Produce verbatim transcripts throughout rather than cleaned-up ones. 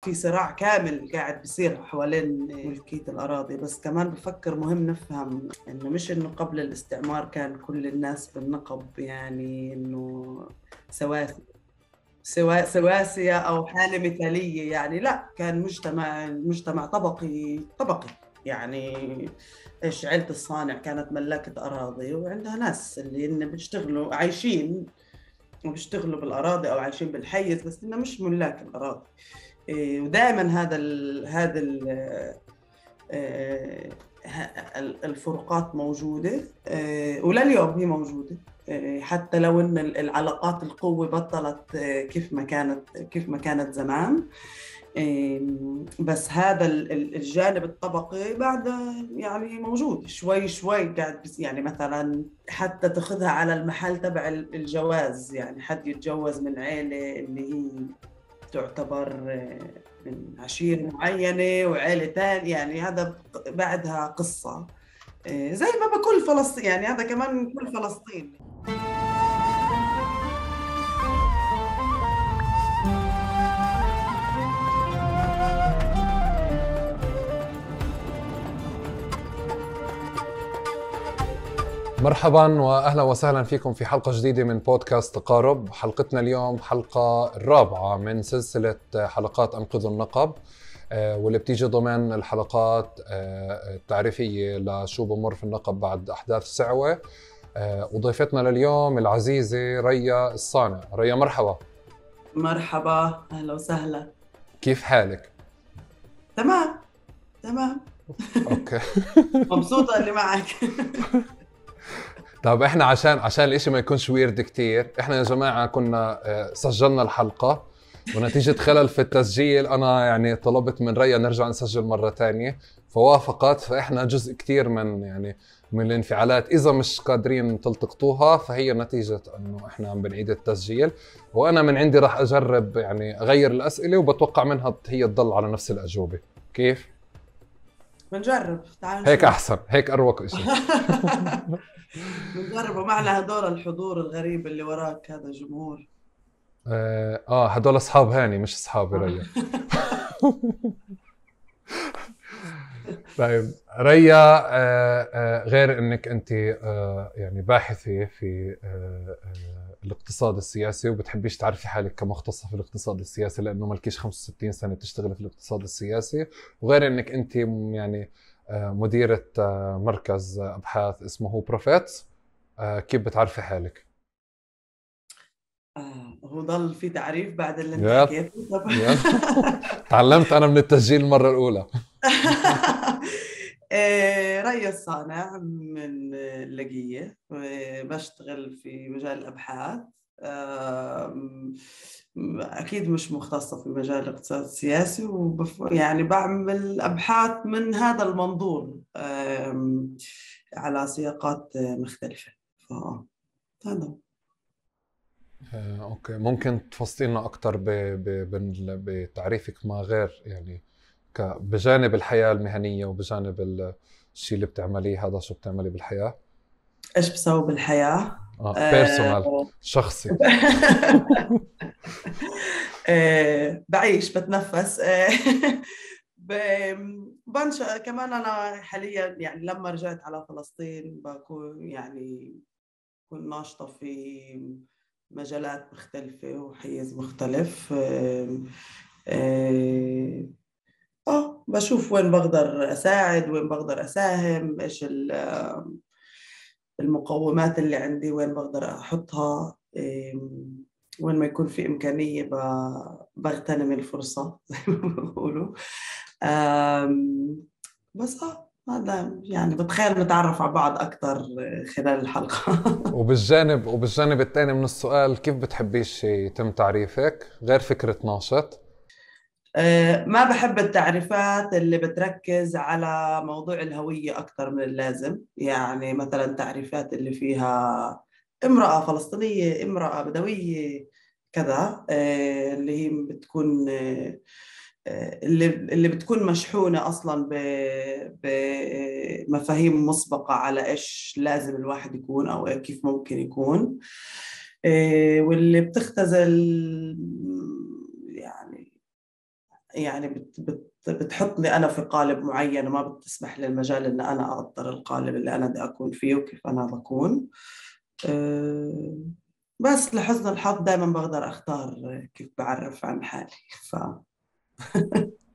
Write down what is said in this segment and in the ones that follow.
في صراع كامل قاعد بيصير حوالين ملكية الأراضي. بس كمان بفكر مهم نفهم إنه مش إنه قبل الاستعمار كان كل الناس بالنقب، يعني إنه سواسي سوا سواسية أو حالة مثالية، يعني لا، كان مجتمع مجتمع طبقي طبقي يعني. إيش عيلة الصانع كانت ملاكة أراضي وعندها ناس اللي إن بيشتغلوا عايشين وبيشتغلوا بالأراضي أو عايشين بالحيز، بس إنه مش ملاك الأراضي. إيه، ودائما هذا ال هذا ال الفروقات موجودة، ولليوم هي موجودة، حتى لو إن العلاقات القوة بطلت كيف ما كانت كيف ما كانت زمان. بس هذا الجانب الطبقي بعد يعني موجود شوي شوي قاعد، بس يعني مثلا حتى تاخذها على المحل تبع الجواز، يعني حد يتجوز من عيلة اللي هي تعتبر من عشيرة معينة وعيلة تانية، يعني هذا بعدها قصة زي ما بكل فلسطين، يعني هذا كمان كل فلسطين. مرحبا واهلا وسهلا فيكم في حلقه جديده من بودكاست تقارب. حلقتنا اليوم حلقه الرابعه من سلسله حلقات انقذوا النقب، واللي بتيجي ضمن الحلقات التعريفيه لشو بمر في النقب بعد احداث سعوه. وضيفتنا لليوم العزيزه ريا الصانع. ريا مرحبا. مرحبا، اهلا وسهلا. كيف حالك؟ تمام تمام. اوكي. مبسوطه اللي معك. طب احنا عشان عشان الاشي ما يكونش ويرد كتير، احنا يا جماعة كنا سجلنا الحلقة ونتيجة خلل في التسجيل انا يعني طلبت من ريا نرجع نسجل مرة تانية فوافقت. فاحنا جزء كتير من يعني من الانفعالات اذا مش قادرين تلتقطوها فهي نتيجة انه احنا عم بنعيد التسجيل. وانا من عندي راح اجرب يعني اغير الاسئلة وبتوقع منها هي تضل على نفس الاجوبة. كيف؟ بنجرب، تعال هيك احسن، هيك اروق اشي. بنجرب. ومعنا هدول الحضور الغريب اللي وراك، هذا جمهور. اه, آه هدول اصحاب هاني مش اصحابي ريا. طيب ريا، آه آه غير انك انت آه يعني باحثة في آه آه الاقتصاد السياسي وبتحبيش تعرفي حالك كمختصة في الاقتصاد السياسي لانه مالكيش خمسة وستين سنة تشتغلي في الاقتصاد السياسي، وغير انك انت يعني آه مديرة آه مركز ابحاث اسمه بروفيتس، آه كيف بتعرفي حالك؟ آه، هو ضل في تعريف بعد اللي انت يلا حكيته؟ يلا. تعلمت انا من التسجيل المرة الاولى. ريا الصانع من اللقية، بشتغل في مجال الأبحاث. أكيد مش مختصة في مجال الاقتصاد السياسي، وبف... يعني بعمل أبحاث من هذا المنظور على سياقات مختلفة. فهذا آه، أوكي، ممكن تفصلينا أكتر ب... ب... ب... بتعريفك ما غير يعني ك... بجانب الحياة المهنية وبجانب الشيء اللي بتعمليه، هذا شو بتعملي بالحياة؟ إيش بسوي بالحياة؟ آه بيرسونال، أه... شخصي. أه... بعيش، بتنفس. أه... ب... بنشأ كمان. أنا حاليا يعني لما رجعت على فلسطين بكون يعني كنت ناشطة في مجالات مختلفة وحيز مختلف. أه... أه... آه بشوف وين بقدر أساعد، وين بقدر أساهم، إيش المقومات اللي عندي، وين بقدر أحطها. وين ما يكون في إمكانية بغتنم الفرصة زي ما بيقولوا. بس آه هذا يعني بتخيل نتعرف على بعض أكتر خلال الحلقة. وبالجانب وبالجانب الثاني من السؤال، كيف بتحبيش يتم تعريفك غير فكرة ناشط؟ ما بحب التعريفات اللي بتركز على موضوع الهوية أكثر من اللازم، يعني مثلا تعريفات اللي فيها امرأة فلسطينية، امرأة بدوية، كذا، اللي هي بتكون اللي اللي بتكون مشحونة أصلا بمفاهيم مسبقة على إيش لازم الواحد يكون أو كيف ممكن يكون، واللي بتختزل يعني يعني بت بت بتحطني أنا في قالب معين وما بتسمح لي المجال إن أنا أقدر القالب اللي أنا بدي أكون فيه وكيف أنا بكون. أه بس لحسن الحظ دائما بقدر أختار كيف بعرف عن حالي ف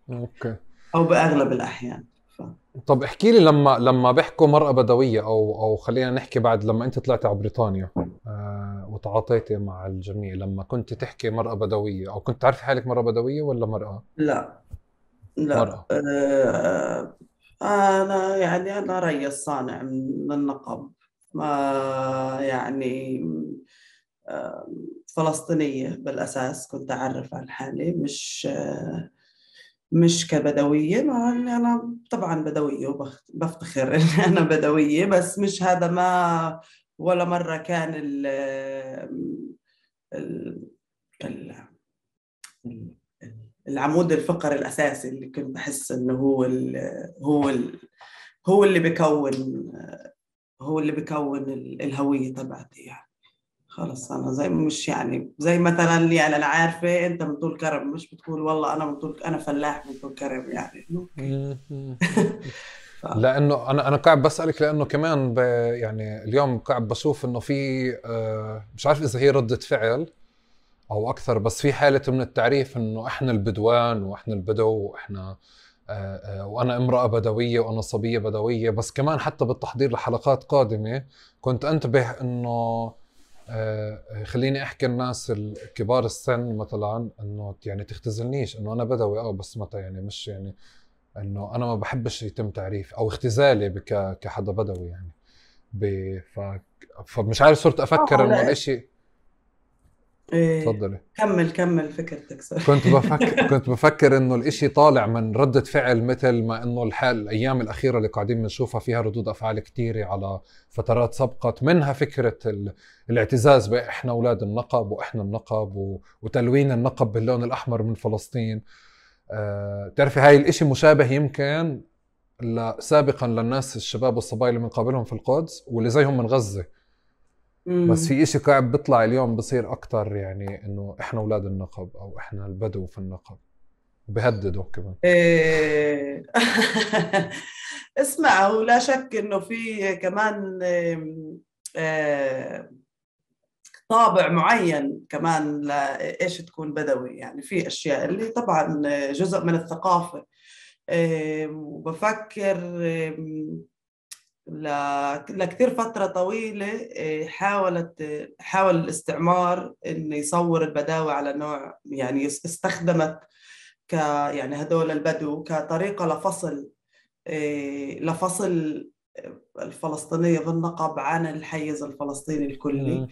اوكي. أو بأغلب الأحيان ف... طب احكي لي لما لما بيحكوا مرأة بدوية او او خلينا نحكي بعد لما انت طلعت على بريطانيا آه وتعاطيتي مع الجميع، لما كنت تحكي مرأة بدوية او كنت تعرفي حالك مرأة بدوية ولا مرأة؟ لا لا مرأة. أه أنا يعني أنا ريس صانع من النقب، ما يعني أه فلسطينية بالأساس، كنت أعرف عن حالي مش أه مش كبدوية، مع إني أنا طبعا بدوية وبفتخر إني أنا بدوية، بس مش هذا، ما ولا مرة كان ال ال ال العمود الفقري الأساسي اللي كنت بحس إنه هو ال هو ال هو اللي بيكون هو اللي بيكون الهوية تبعتي. يعني خلص أنا زي مش يعني زي مثلا يعني أنا عارفة أنت من طول كرم، مش بتقول والله أنا من طول أنا فلاح من طول كرم يعني. أوكي. ف... لانه انا انا قاعد بسالك لانه كمان ب يعني اليوم قاعد بشوف انه في آه مش عارف اذا هي ردة فعل او اكثر، بس في حالة من التعريف انه احنا البدوان واحنا البدو واحنا آه آه وانا امرأة بدوية وانا صبية بدوية. بس كمان حتى بالتحضير لحلقات قادمة كنت انتبه انه آه خليني احكي الناس الكبار السن مثلا انه يعني تختزلنيش انه انا بدوي اه بس متى يعني مش يعني انه انا ما بحبش يتم تعريف او اختزالي بك كحدا بدوي يعني ب... ف... فمش عارف صرت افكر آه انه لا الاشي. إيه. تفضلي. كمل كمل فكرتك سوري. كنت بفكر كنت بفكر انه الاشي طالع من ردة فعل، مثل ما انه الحال الايام الاخيرة اللي قاعدين بنشوفها فيها ردود افعال كتيرة على فترات سبقت، منها فكرة ال... الاعتزاز باحنا اولاد النقب واحنا النقب و... وتلوين النقب باللون الاحمر من فلسطين. أه... تعرفي هاي الاشي مشابه يمكن سابقا للناس الشباب والصبايا اللي بنقابلهم في القدس واللي زيهم من غزة. بس امم في اشي قاعد بيطلع اليوم بصير اكتر، يعني انه احنا اولاد النقب او احنا البدو في النقب، بهددوا كمان. إيه. اسمع، هو لا شك انه في كمان إيه، إيه، طابع معين كمان لايش تكون بدوي. يعني في اشياء اللي طبعا جزء من الثقافة. إيه، وبفكر إيه، لكثير فترة طويلة إيه، حاولت حاول الاستعمار انه يصور البداوة على نوع، يعني استخدمت ك يعني هدول البدو كطريقة لفصل إيه، لفصل الفلسطينية بالنقب عن الحيز الفلسطيني الكلي. مم.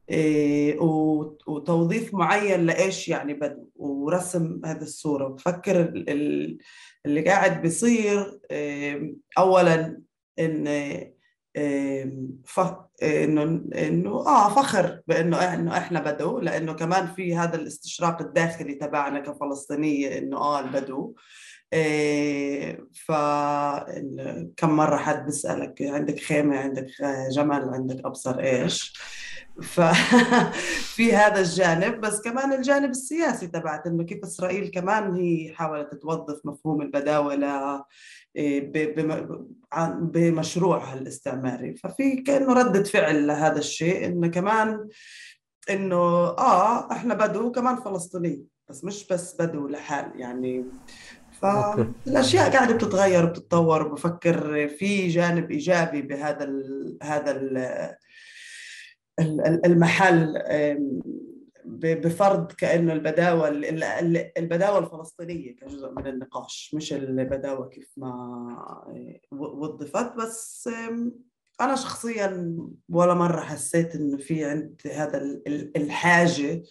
إيه، وت- وتوظيف معين لإيش يعني بدو، ورسم هذه الصورة. بفكر ال- ال- اللي قاعد بيصير إيه، أولا إن إيه، ف- إنه إنه آه فخر بإنه إنه إحنا بدو، لأنه كمان في هذا الاستشراق الداخلي تبعنا كفلسطينية إنه آه البدو. إيه، ف كم مرة حد بيسألك عندك خيمة، عندك جمل، عندك أبصر إيش. ففي هذا الجانب، بس كمان الجانب السياسي تبعت إنه كيف إسرائيل كمان هي حاولت توظف مفهوم البداوة ل إيه، ب- بم- عن- بمشروعها الاستعماري. ففي كأنه ردة فعل لهذا الشيء، إنه كمان إنه آه إحنا بدو كمان فلسطيني، بس مش بس بدو لحال يعني. اوكي. فالأشياء قاعدة بتتغير وبتتطور، وبفكر في جانب إيجابي بهذا ال هذا ال ال- المحل، آم، ب- بفرض كأنه البداوة ال- ال- البداوة الفلسطينية كجزء من النقاش، مش البداوة كيف ما و- وظفت. بس آم، أنا شخصيا ولا مرة حسيت إنه في عند هذا ال- ال- الحاجة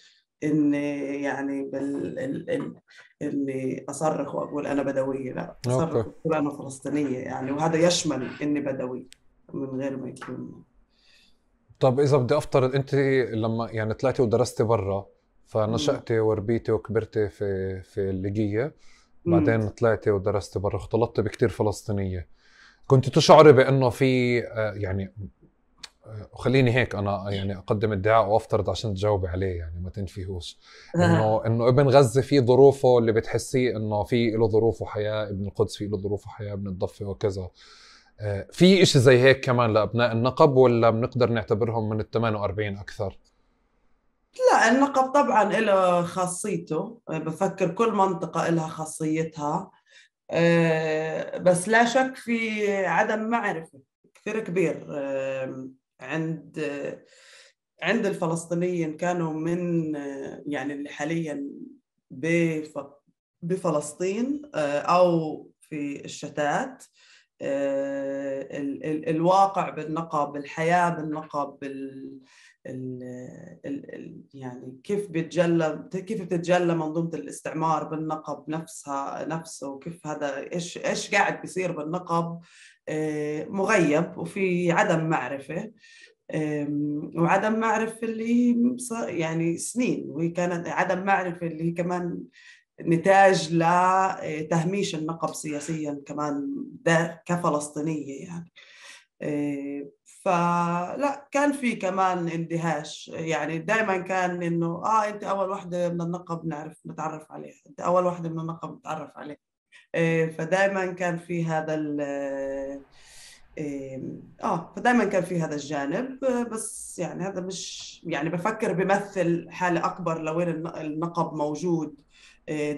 إن يعني بال ال- ال- إني أصرخ وأقول أنا بدوية. لا، اوكي. أصرخ وأقول أنا فلسطينية يعني، وهذا يشمل إني بدوي من غير ما يكون. طب اذا بدي افترض انت لما يعني طلعتي ودرستي برا، مم. فنشأتي وربيتي وكبرتي في في الليجية، مم. بعدين طلعتي ودرستي برا، اختلطتي بكتير فلسطينية، كنت تشعري بانه في آه، يعني وخليني هيك انا يعني اقدم ادعاء وافترض عشان تجاوبي عليه يعني ما تنفيهوش، انه انه ابن غزة في ظروفه اللي بتحسيه انه في له ظروف وحياة، ابن القدس في له ظروف وحياة، ابن الضفة وكذا. في اشي زي هيك كمان لابناء النقب ولا بنقدر نعتبرهم من ال ثمانية وأربعين اكثر؟ لا، النقب طبعا له خاصيته، بفكر كل منطقة لها خاصيتها، بس لا شك في عدم معرفة كثير كبير عند عند الفلسطينيين. كانوا من يعني اللي حاليا بفلسطين أو في الشتات، الواقع بالنقب، الحياة بالنقب، ال ال ال يعني كيف بيتجلى كيف بتتجلى منظومة الاستعمار بالنقب نفسها نفسه، وكيف هذا إيش إيش قاعد بيصير بالنقب مغيب وفي عدم معرفة، وعدم معرفة اللي يعني سنين، وهي كانت عدم معرفة اللي هي كمان نتاج لتهميش النقب سياسيا كمان ده كفلسطينية يعني. فلا كان في كمان اندهاش، يعني دائما كان انه اه انت اول وحده من النقب نعرف نتعرف عليها، انت اول وحده من النقب نتعرف عليها. فدائما كان في هذا ال اه فدائما كان في هذا الجانب، بس يعني هذا مش يعني بفكر بيمثل حالة اكبر لوين النقب موجود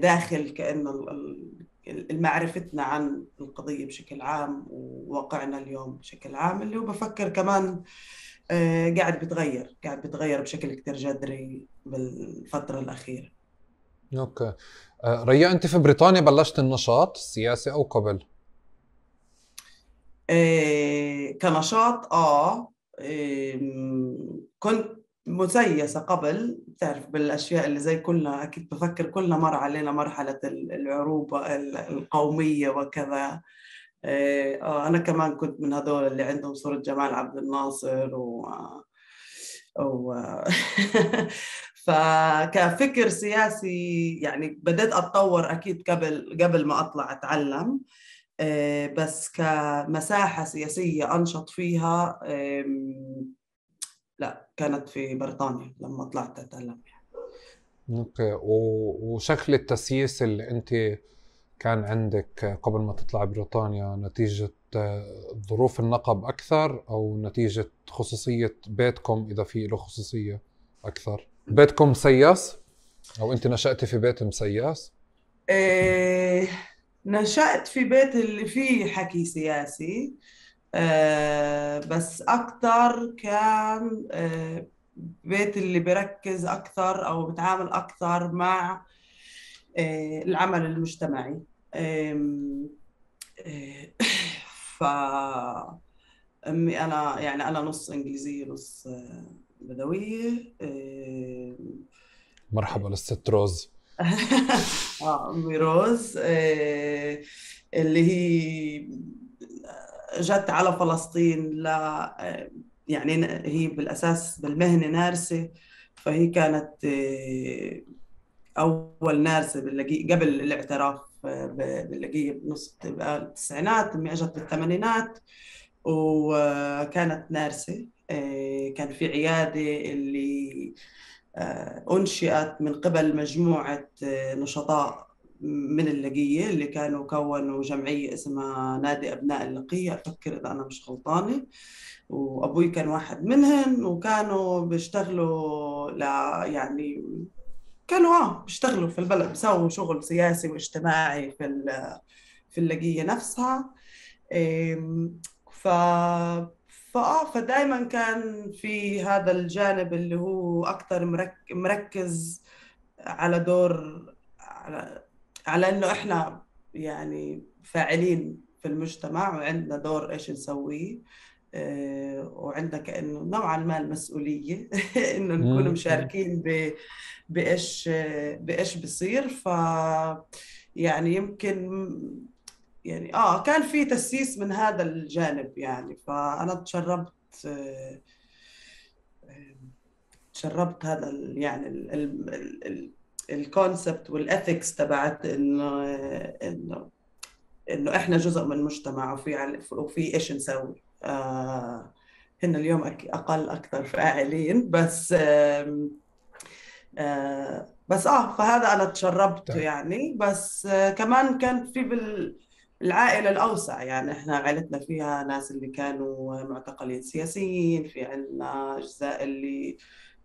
داخل، كأنه المعرفتنا عن القضية بشكل عام وواقعنا اليوم بشكل عام، اللي هو بفكر كمان قاعد بتغير قاعد بتغير بشكل كتير جذري بالفترة الأخيرة. اوكي. ريا، انت في بريطانيا بلشت النشاط السياسي او قبل؟ إيه كنشاط اه إيه كنت مسيسة قبل، بتعرف بالأشياء اللي زي كلنا، أكيد بفكر كلنا مر علينا مرحلة العروبة القومية وكذا. إيه آه أنا كمان كنت من هذول اللي عندهم صورة جمال عبد الناصر و, و... فكفكر سياسي يعني بدأت أتطور أكيد قبل قبل ما أطلع أتعلم، بس كمساحة سياسية أنشط فيها لا كانت في بريطانيا لما طلعت أتعلم. اوكي. وشكل التسييس اللي أنت كان عندك قبل ما تطلع بريطانيا نتيجة ظروف النقب أكثر أو نتيجة خصوصية بيتكم، إذا في له خصوصية أكثر؟ بيتكم مسيس أو أنت نشأتي في بيت مسيس؟ إيه نشأت في بيت اللي فيه حكي سياسي، آه بس أكتر كان آه بيت اللي بركز أكثر أو بتعامل أكثر مع آه العمل المجتمعي. آه آه ف أمي أنا يعني أنا نص إنجليزية نص بدوية. آه مرحبا للست روز. آه أمي روز، آه اللي هي جت على فلسطين لا يعني هي بالأساس بالمهنة نارسة، فهي كانت أول نارسة باللقي قبل الاعتراف باللقية بنص التسعينات، أمي أجت بالثمانينات وكانت نارسة. كان في عيادة اللي أنشئت من قبل مجموعة نشطاء من اللقية اللي كانوا كونوا جمعية اسمها نادي أبناء اللقية، أفكر إذا أنا مش غلطانة، وأبوي كان واحد منهم، وكانوا بيشتغلوا لا يعني كانوا آه بيشتغلوا في البلد، بيسووا شغل سياسي واجتماعي في في اللقية نفسها. ف فآه فدائما كان في هذا الجانب اللي هو أكثر مرك... مركز على دور على على إنه إحنا يعني فاعلين في المجتمع وعندنا دور إيش نسويه، أه وعندنا كأنه نوعا ما المسؤولية إنه نكون مشاركين ب... بإيش بإيش بصير. ف يعني يمكن يعني آه كان في تسييس من هذا الجانب يعني، فأنا تشربت تشربت هذا ال يعني الكونسبت والإثكس تبعت إنه إنه إنه إحنا جزء من المجتمع وفي وفي إيش نسوي. آه هن اليوم أقل أكثر فاعلين، بس آه آه بس آه فهذا أنا تشربته يعني. بس آه كمان كان في بالعائلة الأوسع، يعني إحنا عائلتنا فيها ناس اللي كانوا معتقلين سياسيين، في عنا أجزاء اللي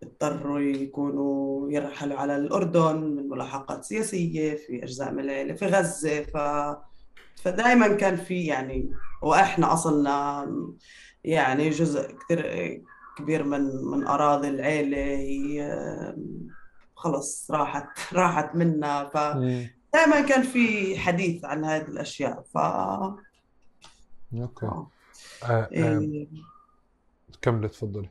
اضطروا يكونوا يرحلوا على الأردن من ملاحقات سياسية، في أجزاء من العائلة في غزة. ف فدائما كان في يعني، وإحنا أصلنا يعني جزء كثير كبير من من أراضي العيلة هي خلص راحت راحت منا. مم. فدائما كان في حديث عن هذه الأشياء. ف اوكي. آه. آه آه. إيه. كملي تفضلي.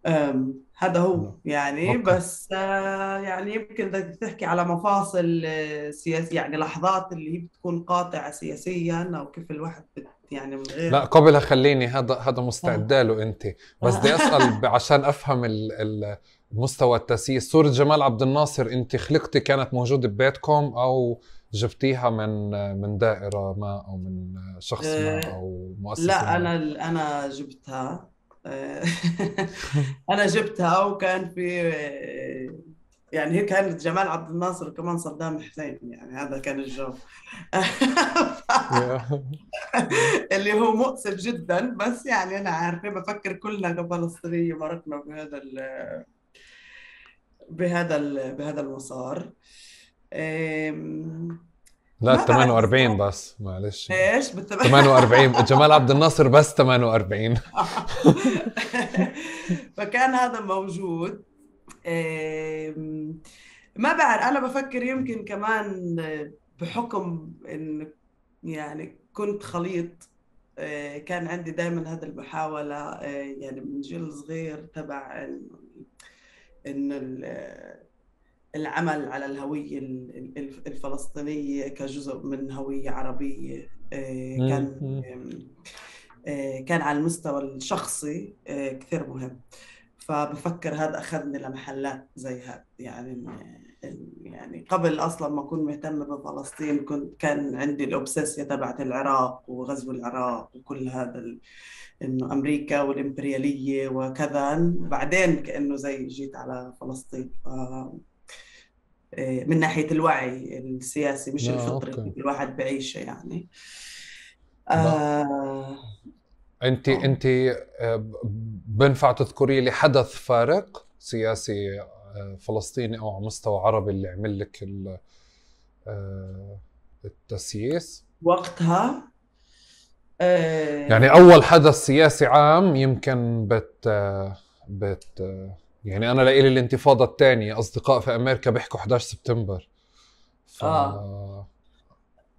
أم، هذا هو لا. يعني. اوكي. بس آه، يعني يمكن بدك تحكي على مفاصل آه، سياسية، يعني لحظات اللي هي بتكون قاطعة سياسيا، أو كيف الواحد بت يعني من لا غير. قبلها خليني، هذا هذا آه. مستعد له انت، بس بدي آه. اسال ب- عشان افهم ال- ال- مستوى التاسيس. صورة جمال عبد الناصر انت خلقتي كانت موجودة ببيتكم او جبتيها من من دائرة ما او من شخص ما آه، او مؤسسة لا ما؟ أنا أنا جبتها. آه، أنا جبتها. وكان في آه، يعني هي كانت جمال عبد الناصر وكمان صدام حسين، يعني هذا كان الجو. يا. اللي هو مؤسف جدا، بس يعني انا عارفه بفكر كلنا كفلسطينيه مرقنا بهذا ال بهذا ال بهذا المسار. أم، لا ما بعرف ثمانية وأربعين الصراحه بس معلش. ايش بالتم... ثمانية وأربعين جمال عبد الناصر بس ثمانية وأربعين. فكان هذا موجود. أم، ما بعرف، انا بفكر يمكن كمان بحكم ان يعني كنت خليط. آه، كان عندي دائما هذه المحاولة، آه، يعني من جيل صغير تبع إن إن ال- العمل على الهوية ال- ال- الفلسطينية كجزء من هوية عربية. آه، مم، كان مم. آه، كان على المستوى الشخصي آه، كثير مهم. فبفكر هذا أخذني لمحلات زي هذا، يعني يعني قبل أصلا ما أكون مهتمة بفلسطين كنت كان عندي الأوبسيسيا تبعت العراق وغزو العراق وكل هذا ال... إنه أمريكا والإمبريالية وكذا. بعدين كأنه زي جيت على فلسطين. ف... إيه، من ناحية الوعي السياسي مش لا الفطري اوكي. اللي الواحد بعيشه يعني. لا آه... انت آه. انت آه، بنفع تذكري لي حدث فارق سياسي آه، فلسطيني او على مستوى عربي اللي عمل لك ال- آه، التسييس؟ وقتها يعني آه... اول حدث سياسي عام يمكن بت آه، بت آه، يعني انا لإلي الانتفاضة الثانية اصدقاء في امريكا بيحكوا إحدى عشر سبتمبر. ف آه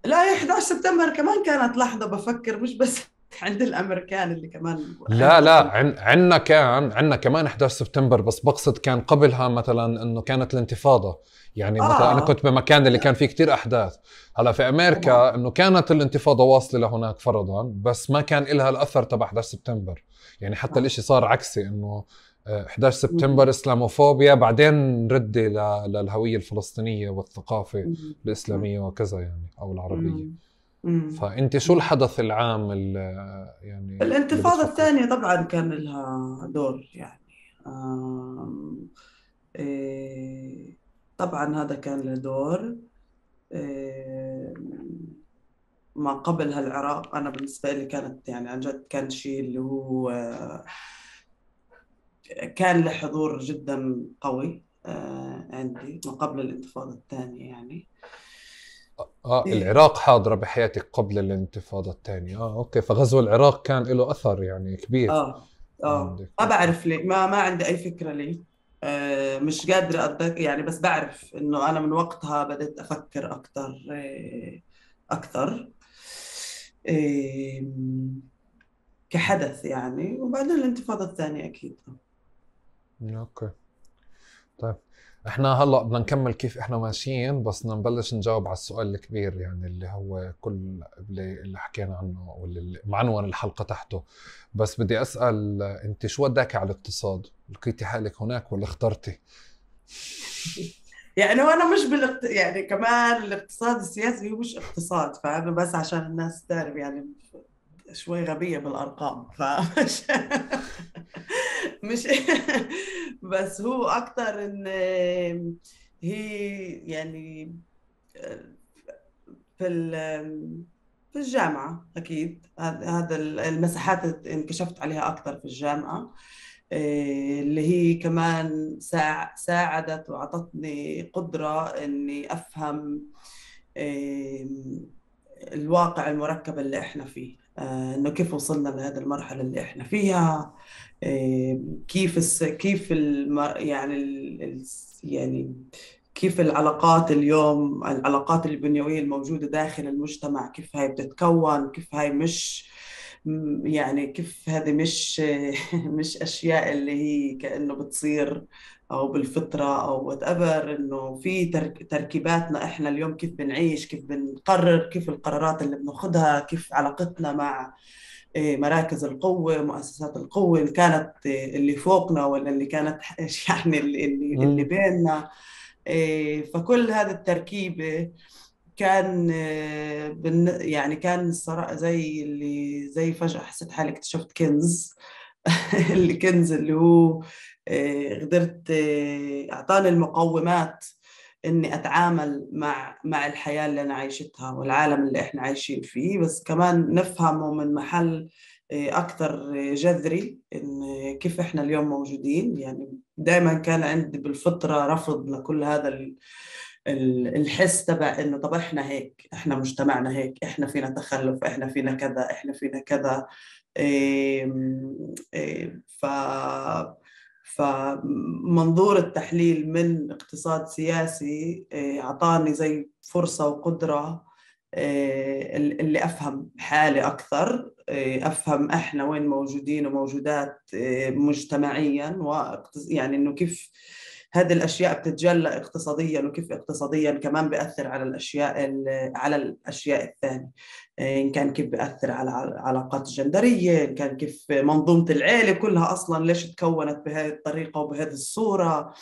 لا، هي إحدى عشر سبتمبر كمان كانت لحظة بفكر، مش بس عند الأمريكان اللي كمان لا عندهم لا كل. عن عنا كان عنا كمان إحدى عشر سبتمبر، بس بقصد كان قبلها مثلا انه كانت الانتفاضة. يعني مثلا انا آه كنت بمكان اللي كان فيه كتير احداث. هلا في طبعا. امريكا انه كانت الانتفاضة واصلة لهناك فرضا، بس ما كان إلها الاثر تبع إحدى عشر سبتمبر. يعني حتى آه. الاشي صار عكسي، انه آه، إحدى عشر مم. سبتمبر اسلاموفوبيا، بعدين ردي ل- للهوية الفلسطينية والثقافة مم. الاسلامية وكذا يعني، او العربية. مم. مم. فانت شو مم. الحدث العام اللي يعني اللي الانتفاضة بتفكر؟ الثانية طبعا كان لها دور يعني. آم، إيه، طبعا هذا كان له دور. إيه، ما قبلها العراق أنا بالنسبة لي كانت يعني عن جد كان شيء اللي هو آه، كان له حضور جدا قوي آه، عندي ما قبل الانتفاضة الثانية يعني. اه إيه. العراق حاضرة بحياتك قبل الانتفاضة الثانية. اه اوكي، فغزو العراق كان له اثر يعني كبير اه اه عندك. ما اوكي. بعرف ليه، ما ما عندي اي فكره ليه. آه مش قادره أتذكر يعني، بس بعرف انه انا من وقتها بدأت افكر اكثر آه اكثر آه كحدث يعني. وبعدين الانتفاضه الثانيه اكيد. اوكي طيب، احنا هلا بدنا نكمل كيف احنا ماشيين، بس بدنا نبلش نجاوب على السؤال الكبير يعني اللي هو كل اللي, اللي حكينا عنه واللي معنون الحلقة تحته. بس بدي اسأل، انت شو وداك على الاقتصاد؟ لقيتي حالك هناك ولا اخترتي؟ يعني هو انا مش بالاقت... يعني كمان الاقتصاد السياسي هو مش اقتصاد، فانا بس عشان الناس تعرف يعني شوي غبية بالأرقام فمش مش بس هو أكتر إن هي يعني في في الجامعة أكيد هذا المساحات انكشفت عليها أكتر في الجامعة، اللي هي كمان ساعدت وعطتني قدرة إني أفهم الواقع المركب اللي إحنا فيه، إنه كيف وصلنا لهذه المرحلة اللي إحنا فيها، كيف الس... كيف الم... يعني ال... يعني كيف العلاقات اليوم، العلاقات البنيوية الموجودة داخل المجتمع كيف هاي بتتكون، كيف هاي مش يعني كيف هذه مش مش أشياء اللي هي كأنه بتصير أو بالفطرة أو whatever، إنه في ترك تركيباتنا إحنا اليوم كيف بنعيش، كيف بنقرر، كيف القرارات اللي بناخدها، كيف علاقتنا مع مراكز القوة، مؤسسات القوة، إن كانت اللي فوقنا ولا اللي كانت يعني اللي اللي بيننا. فكل هذه التركيبة كان يعني كان الصراحة زي اللي زي فجأة حسيت حالي اكتشفت كنز اللي كنز اللي هو قدرت أعطاني المقومات إني أتعامل مع مع الحياة اللي أنا عايشتها والعالم اللي إحنا عايشين فيه، بس كمان نفهمه من محل أكثر جذري، إن كيف إحنا اليوم موجودين. يعني دائما كان عندي بالفطرة رفض لكل هذا الحس تبع إنه طب إحنا هيك، إحنا مجتمعنا هيك، إحنا فينا تخلف، إحنا فينا كذا، إحنا فينا كذا. إيه إيه ف فمنظور التحليل من اقتصاد سياسي أعطاني زي فرصة وقدرة اللي أفهم حالي أكثر، أفهم إحنا وين موجودين وموجودات مجتمعيا، ويعني إنه كيف هذه الأشياء بتتجلى اقتصاديا، وكيف اقتصاديا كمان بيأثر على الأشياء على الأشياء الثانية، إن كان كيف بيأثر على العلاقات الجندرية، إن كان كيف منظومة العيلة كلها أصلا ليش تكونت بهذه الطريقة وبهذه الصورة،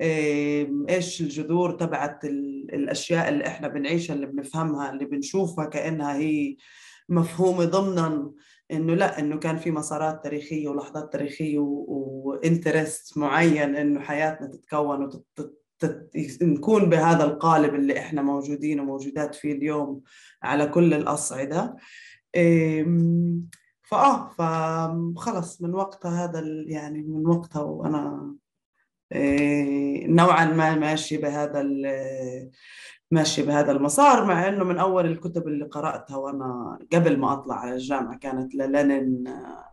إيش الجذور تبعت الأشياء اللي إحنا بنعيشها، اللي بنفهمها، اللي بنشوفها كأنها هي مفهومة ضمنا، إنه لا، إنه كان في مسارات تاريخية ولحظات تاريخية وإنترست معين إنه حياتنا تتكون ونكون بهذا القالب اللي إحنا موجودين وموجودات فيه اليوم على كل الأصعدة. فآه فخلص من وقتها هذا يعني من وقتها وأنا نوعا ما ماشي بهذا ماشي بهذا المسار، مع انه من اول الكتب اللي قراتها وانا قبل ما اطلع على الجامعه كانت للينين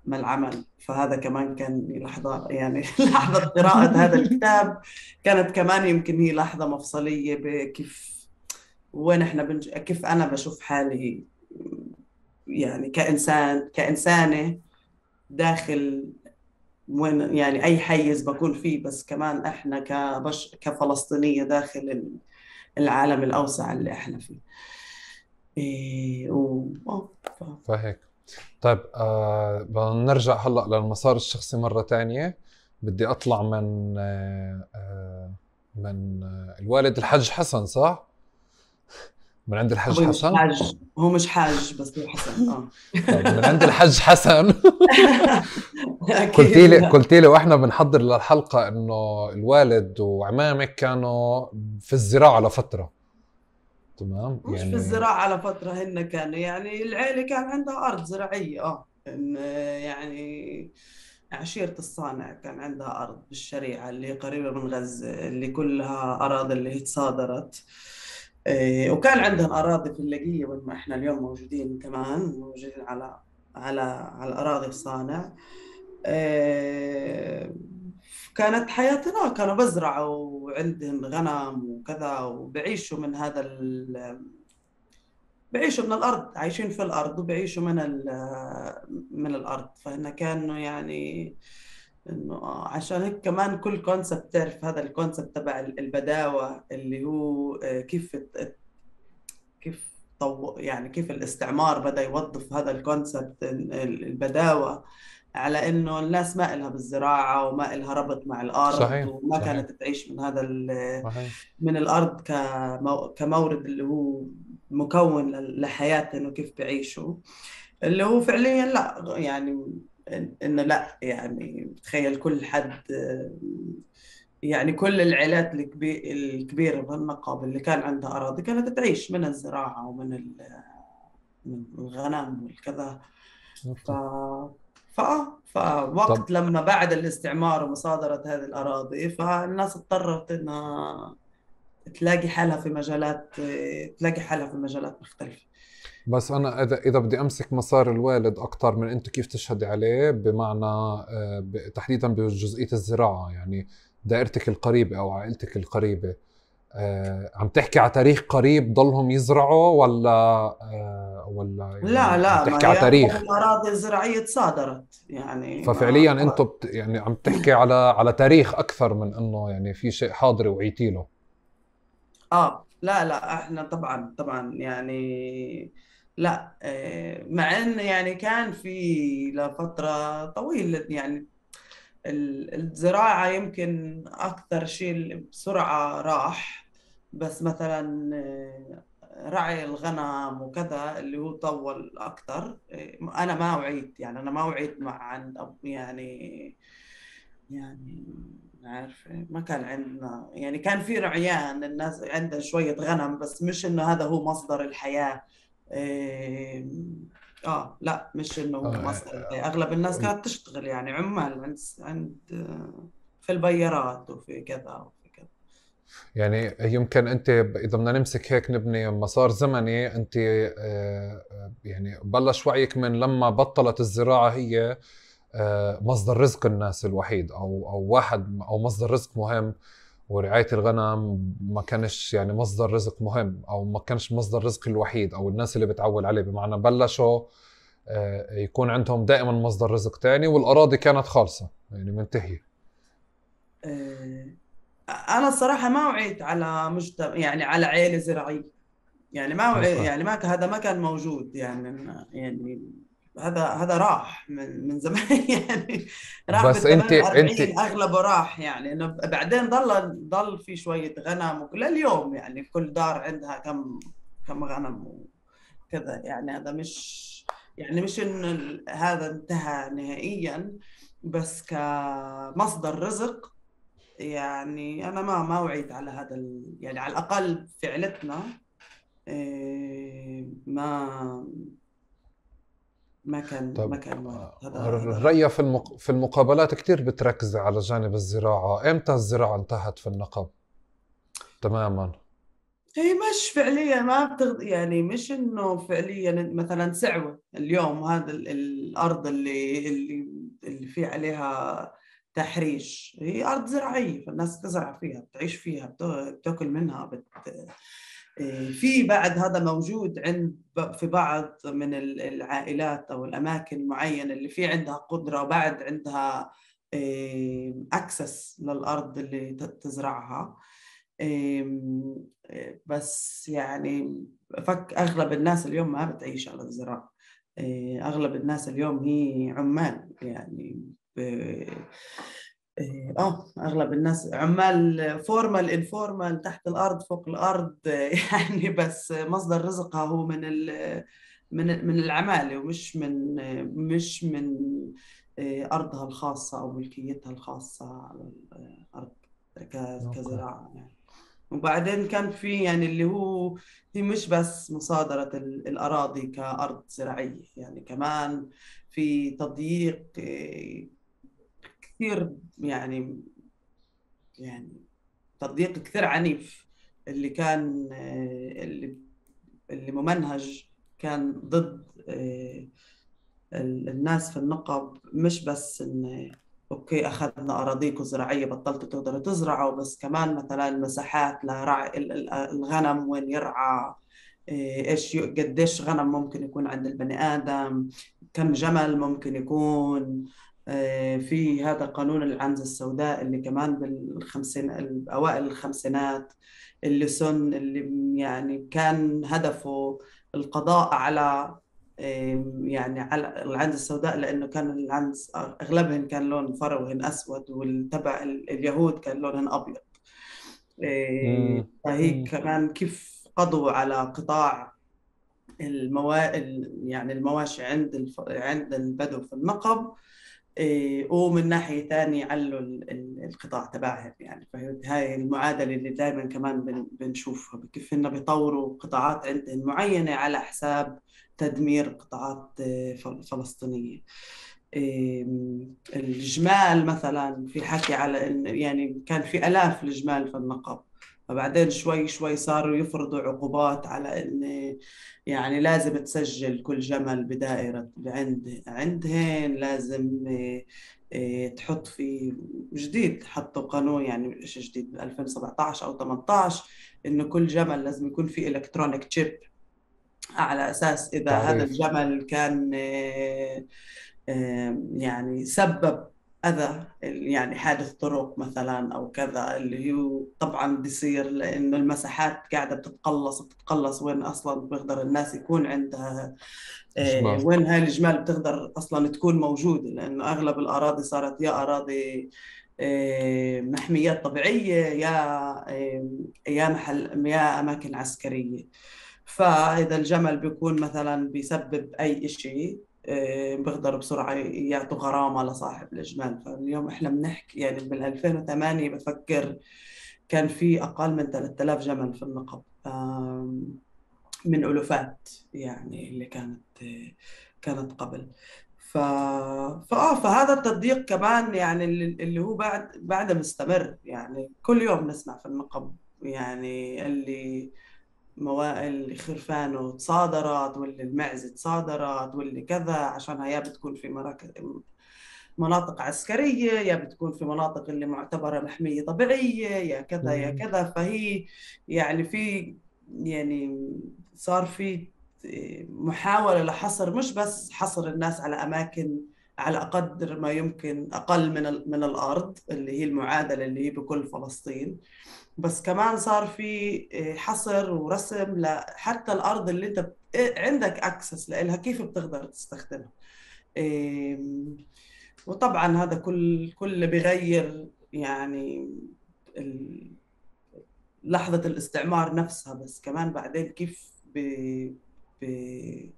ما العمل، فهذا كمان كان لحظه يعني لحظه قراءه هذا الكتاب كانت كمان يمكن هي لحظه مفصليه بكيف وين احنا بنج... كيف انا بشوف حالي يعني كانسان كانسانه داخل وين يعني اي حيز بكون فيه، بس كمان احنا كبش كفلسطينيه داخل العالم الأوسع اللي إحنا فيه. إيه و... ف... فهيك. طيب آه بنرجع هلأ للمسار الشخصي مرة تانية. بدي أطلع من آه من آه الوالد الحاج حسن، صح؟ من عند الحاج هو حسن؟ مش حاج، هو مش حاج بس هو حسن. آه طيب من عند الحاج حسن. قلتي لي قلتي لي واحنا بنحضر للحلقة إنه الوالد وعمامك كانوا في الزراعة لفترة، تمام؟ مش يعني في الزراعة على فترة، هن كانوا يعني العيلة كان عندها أرض زراعية، آه إن يعني عشيرة الصانع كان عندها أرض بالشريعة اللي هي قريبة من غزة، اللي كلها أراضي اللي هي تصادرت. إيه وكان عندهم أراضي في اللاقية وين ما إحنا اليوم موجودين، كمان موجودين على على على أراضي الصانع. إيه كانت حياتنا كانوا بزرعوا وعندهم غنم وكذا، وبعيشوا من هذا ال بعيشوا من الأرض، عايشين في الأرض وبعيشوا من من الأرض. فهنا كانوا يعني إنه عشان هيك كمان كل كونسبت، تعرف هذا الكونسبت تبع البداوة اللي هو كيف كيف طو يعني كيف الاستعمار بدأ يوظف هذا الكونسبت البداوة على إنه الناس ما إلها بالزراعة وما إلها ربط مع الأرض. صحيح. وما صحيح. كانت تعيش من هذا صحيح. من الأرض كمو كمورد اللي هو مكون لحياتهم وكيف بيعيشوا. اللي هو فعليا لا يعني إن- انه لا يعني تخيل كل حد، يعني كل العائلات الكبي- الكبيرة بالنقب اللي كان عندها أراضي كانت تعيش من الزراعة ومن ال- من الغنم والكذا. ف فآه طب فوقت لما بعد الاستعمار ومصادرة هذه الأراضي فالناس اضطرت إنها تلاقي حالها في مجالات، تلاقي حالها في مجالات مختلفة. بس أنا إذا إذا بدي أمسك مسار الوالد أكتر من أنت كيف تشهدي عليه، بمعنى آه، ب- تحديدا بجزئية الزراعة، يعني دائرتك القريبة أو عائلتك القريبة، آه، عم تحكي على تاريخ قريب ضلهم يزرعوا ولا آه، ولا لا يعني عم لا، ما تحكي على هي أغلب تاريخ؟ الأراضي الزراعية تصادرت يعني ففعليا ما. انتم بت يعني عم تحكي على على تاريخ اكثر من انه يعني في شيء حاضر وعيتي له. اه لا لا، احنا طبعا طبعا يعني لا، آه، مع ان يعني كان في لفترة طويلة يعني ال- الزراعة يمكن اكثر شيء بسرعة راح، بس مثلا آه، رعي الغنم وكذا اللي هو طول اكثر. آه، انا ما وعيت يعني انا ما وعيت مع عند أب- يعني يعني عارفة ما كان عندنا يعني كان في رعيان، الناس عندها شوية غنم بس مش إنه هذا هو مصدر الحياة. إيه، آه لا مش إنه هو آه، مصدر الحياة. أغلب الناس كانت تشتغل يعني عمال عند عند آه، في البيارات وفي كذا وفي كذا. يعني يمكن انت ب- اذا بدنا نمسك هيك نبني مسار زمني، انت آه، آه، يعني بلش وعيك من لما بطلت الزراعة هي آه، مصدر رزق الناس الوحيد، او او واحد او مصدر رزق مهم، ورعاية الغنم ما كانش يعني مصدر رزق مهم، او ما كانش مصدر رزق الوحيد او الناس اللي بتعول عليه، بمعنى بلشوا آه، يكون عندهم دائما مصدر رزق تاني، والأراضي كانت خالصة يعني منتهية. إيه، أنا الصراحة ما وعيت على مجتمع يعني على عائلة زراعية. يعني ما وعي اوكي. يعني ما ك- هذا ما كان موجود يعني يعني هذا هذا راح من من زمان يعني راح بس بال انت ثمانين انت أربعين اغلبه راح يعني انه بعدين ضل ضل في شويه غنم وكل اليوم يعني كل دار عندها كم كم غنم وكذا. يعني هذا مش يعني مش انه ال- هذا انتهى نهائيا، بس كمصدر رزق يعني انا ما ما وعيت على هذا ال- يعني على الاقل في عيلتنا. إيه، ما ما كان ما طب كان وارد. آه، هذا هذا رأيي. الريا في المق... في المقابلات كتير بتركز على جانب الزراعة، امتى الزراعة انتهت في النقب تماما؟ هي مش فعليا ما بتغ... يعني مش انه فعليا مثلا سعوة اليوم هذا ال... الارض اللي اللي اللي في عليها تحريش هي ارض زراعية، فالناس تزرع فيها بتعيش فيها بت... بتاكل منها بت... إيه، في بعد هذا موجود عند ب- في بعض من ال- العائلات او الاماكن معينة اللي في عندها قدرة وبعد عندها اكسس للارض اللي ت- تزرعها. إم، بس يعني فك أغلب الناس اليوم ما بتعيش على الزراعة. إيه، أغلب الناس اليوم هي عمال يعني ب- إيه، آه أغلب الناس عمال فورمال انفورمال تحت الأرض فوق الأرض يعني بس مصدر رزقها هو من ال من من العمالة ومش من مش من إيه، أرضها الخاصة أو ملكيتها الخاصة على الأرض ك- اوكي. كزراعة يعني. وبعدين كان في يعني اللي هو هي مش بس مصادرة ال- الأراضي كأرض زراعية، يعني كمان في تضييق إيه، كثير يعني يعني تضييق كثير عنيف اللي كان إيه، اللي اللي ممنهج كان ضد إيه، ال- الناس في النقب. مش بس إن أوكي أخذنا أراضيكم زراعية بطلتوا تقدروا تزرعوا، بس كمان مثلا مساحات لرعي ال- ال- الغنم وين يرعى، إيه، إيش ي- قديش غنم ممكن يكون عند البني آدم، كم جمل ممكن يكون. إيه، في هذا قانون العنزة السوداء اللي كمان بالخمسين أوائل الخمسينات اللي سن اللي يعني كان هدفه القضاء على يعني على العنز السوداء، لأنه كان العنز أغلبهن كان لون فروهن أسود والتبع ال- اليهود كان لونهن أبيض. إيه، امم فهي كمان كيف قضوا على قطاع الموا... ال- يعني المواشي عند الف... عند البدو في النقب. إيه، ومن ناحية تانية علوا ال- ال- القطاع تبعهم. يعني فهمت هاي المعادلة اللي دائما كمان بن- بنشوفها، كيف إنه بيطوروا قطاعات عندهم معينة على حساب تدمير قطاعات إيه، فل- فلسطينية. إيه، الجمال مثلا، في حكي على إن يعني كان في آلاف الجمال في النقب، فبعدين شوي شوي صاروا يفرضوا عقوبات على إن يعني لازم تسجل كل جمل بدائرة عند عندهن، لازم إيه، إيه، تحط في جديد، حطوا قانون يعني مش جديد، ب ألفين وسبعطعش أو ثمانطعش، إنه كل جمل لازم يكون في إلكترونيك تشيب، على أساس إذا هذا تعريف. الجمل كان إيه، إيه، يعني سبب أذى، يعني حادث طرق مثلا أو كذا، اللي هو طبعا بيصير لأنه المساحات قاعدة بتتقلص بتتقلص، وين أصلا بيقدر الناس يكون عندها إيه، جمال. وين هاي الجمال بتقدر أصلا تكون موجودة، لأنه أغلب الأراضي صارت يا أراضي إيه، محميات طبيعية، يا إيه، يا محل يا أماكن عسكرية. فإذا الجمل بيكون مثلا بيسبب أي إشي إيه، بيقدروا بسرعة يعطوا غرامة لصاحب الجمال. فاليوم إحنا بنحكي يعني بال ألفين وثمانية بفكر كان في أقل من ثلاثة آلاف جمل في النقب، آم، من ألوفات يعني اللي كانت كانت قبل. ف... فآه فهذا التضييق كمان يعني اللي اللي هو بعد بعد مستمر، يعني كل يوم نسمع في النقب يعني اللي موا... اللي خرفانه تصادرت، واللي المعزة تصادرت، واللي كذا، عشان هي بتكون في مراكز مناطق عسكرية، يا بتكون في مناطق اللي معتبرة محمية طبيعية، يا كذا يا مم. كذا. فهي يعني في يعني صار في محاولة لحصر، مش بس حصر الناس على أماكن على قدر ما يمكن أقل من ال- من الأرض، اللي هي المعادلة اللي هي بكل فلسطين، بس كمان صار في حصر ورسم لحتى الأرض اللي أنت ب- عندك أكسس لها، كيف بتقدر تستخدمها. إيه، وطبعا هذا كل كل بيغير يعني ال- لحظة الاستعمار نفسها، بس كمان بعدين كيف بي بي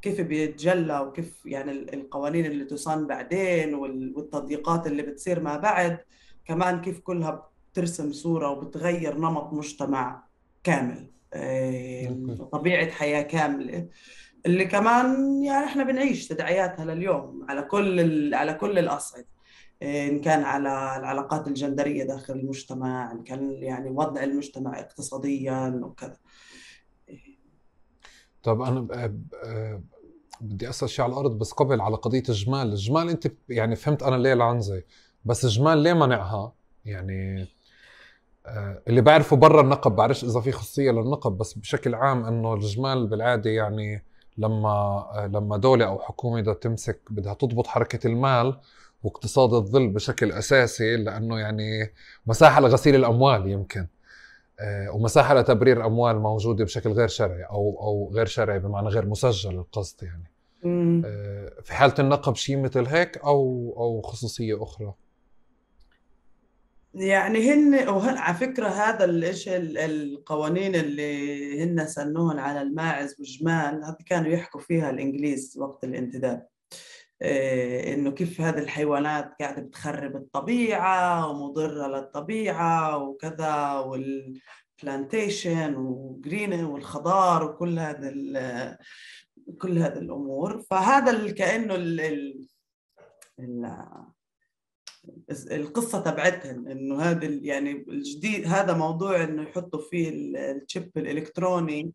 كيف بيتجلى، وكيف يعني ال- القوانين اللي تصان بعدين وال- والتضييقات اللي بتصير ما بعد، كمان كيف كلها بترسم صورة وبتغير نمط مجتمع كامل، إيه، اوكي. وطبيعة حياة كاملة، اللي كمان يعني احنا بنعيش تداعياتها لليوم على كل ال... على كل الأصعدة، إن كان على العلاقات الجندرية داخل المجتمع، إن كان يعني وضع المجتمع اقتصاديا وكذا. طب انا ب- ب- آه، بدي اسال شيء على الارض، بس قبل على قضيه الجمال. الجمال انت ب- يعني فهمت انا ليه العنزه، بس الجمال ليه منعها يعني؟ آه، اللي بعرفه برا النقب، بعرفش اذا في خصوصيه للنقب، بس بشكل عام انه الجمال بالعاده يعني لما آه، لما دوله او حكومه بدها تمسك بدها تضبط حركه المال واقتصاد الظل بشكل اساسي، لانه يعني مساحه لغسيل الاموال يمكن، آه، ومساحه لتبرير اموال موجوده بشكل غير شرعي او او غير شرعي بمعنى غير مسجل القصد يعني. مم. آه، في حاله النقب شيء مثل هيك او او خصوصيه اخرى؟ يعني هن وهن على فكرة هذا الإيش ال- القوانين اللي هن سنوهن على الماعز والجمال، هذه كانوا يحكوا فيها الإنجليز وقت الانتداب، إيه، إنه كيف هذه الحيوانات قاعدة بتخرب الطبيعة ومضرة للطبيعة وكذا، والبلانتيشن وجرين والخضار وكل هذا ال- كل هذه الأمور. فهذا ال- كأنه ال ال ال- القصة تبعتهم، إنه هذا ال- يعني الجديد هذا موضوع إنه يحطوا فيه ال- الشيب الإلكتروني.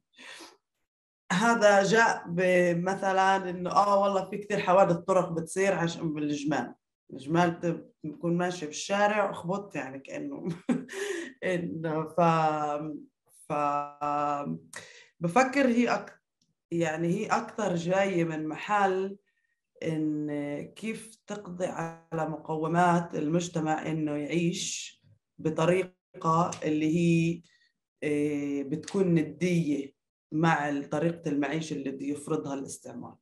هذا جاء بمثلا انه اه والله في كثير حوادث طرق بتصير عشان بالجمال، الجمال بت- بتكون ماشي بالشارع وخبط يعني كأنه انه ف ف بفكر هي أك... يعني هي اكثر جاية من محل ان كيف تقضي على مقومات المجتمع انه يعيش بطريقة اللي هي إيه، بتكون ندية مع طريقة المعيشة اللي بده يفرضها الاستعمار.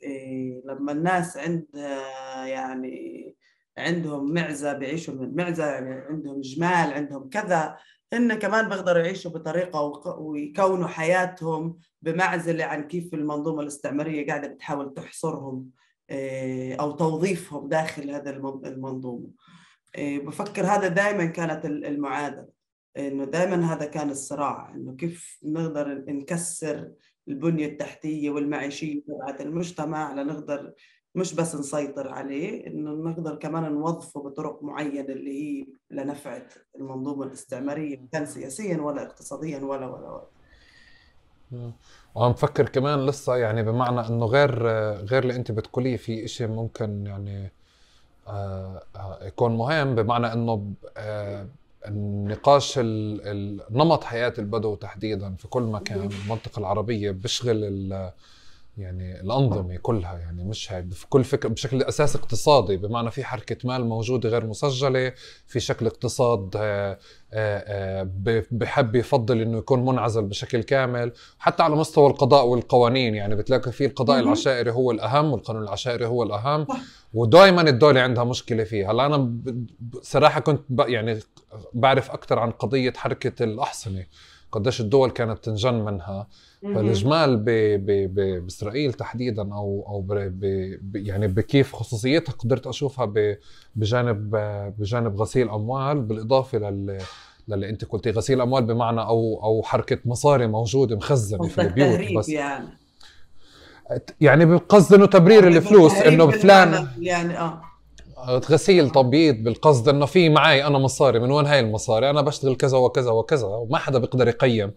إيه، لما الناس عندها يعني عندهم معزة بيعيشوا من المعزة، يعني عندهم جمال، عندهم كذا، هن كمان بيقدروا يعيشوا بطريقة ويكونوا حياتهم بمعزلة عن كيف المنظومة الاستعمارية قاعدة بتحاول تحصرهم أو توظيفهم داخل هذا المنظومة. بفكر هذا دائما كانت المعادلة، إنه دائما هذا كان الصراع، إنه كيف نقدر نكسر البنية التحتية والمعيشية تبعت المجتمع لنقدر مش بس نسيطر عليه، إنه نقدر كمان نوظفه بطرق معينة اللي هي لنفع المنظومة الاستعمارية، كان سياسيا ولا اقتصاديا ولا ولا ولا. وعم فكر كمان لسه يعني بمعنى إنه غير غير اللي أنت بتقوليه في إشي ممكن يعني آه يكون مهم، بمعنى إنه آه النقاش نمط حياة البدو تحديدا في كل مكان المنطقة العربية بيشغل يعني الأنظمة كلها، يعني مش هيك في كل فكرة بشكل أساس اقتصادي، بمعنى في حركة مال موجودة غير مسجلة، في شكل اقتصاد بحب يفضل إنه يكون منعزل بشكل كامل، حتى على مستوى القضاء والقوانين. يعني بتلاقي في القضاء العشائري هو الأهم والقانون العشائري هو الأهم، ودائما الدولة عندها مشكلة فيه. هلا أنا صراحة كنت يعني بعرف أكثر عن قضية حركة الأحصنة، قديش الدول كانت تنجن منها. فالإجمال ب ب ب بإسرائيل تحديدا أو أو ب ب يعني بكيف خصوصيتها قدرت أشوفها بجانب بجانب غسيل أموال، بالإضافة لل للي أنت قلتي غسيل أموال، بمعنى أو أو حركة مصاري موجودة مخزنة في البيوت، بس يعني يعني بقصد إنه تبرير الفلوس، إنه فلان يعني آه غسيل تبييض بالقصد انه في معي انا مصاري، من وين هاي المصاري؟ انا بشتغل كذا وكذا وكذا، وما حدا بيقدر يقيم.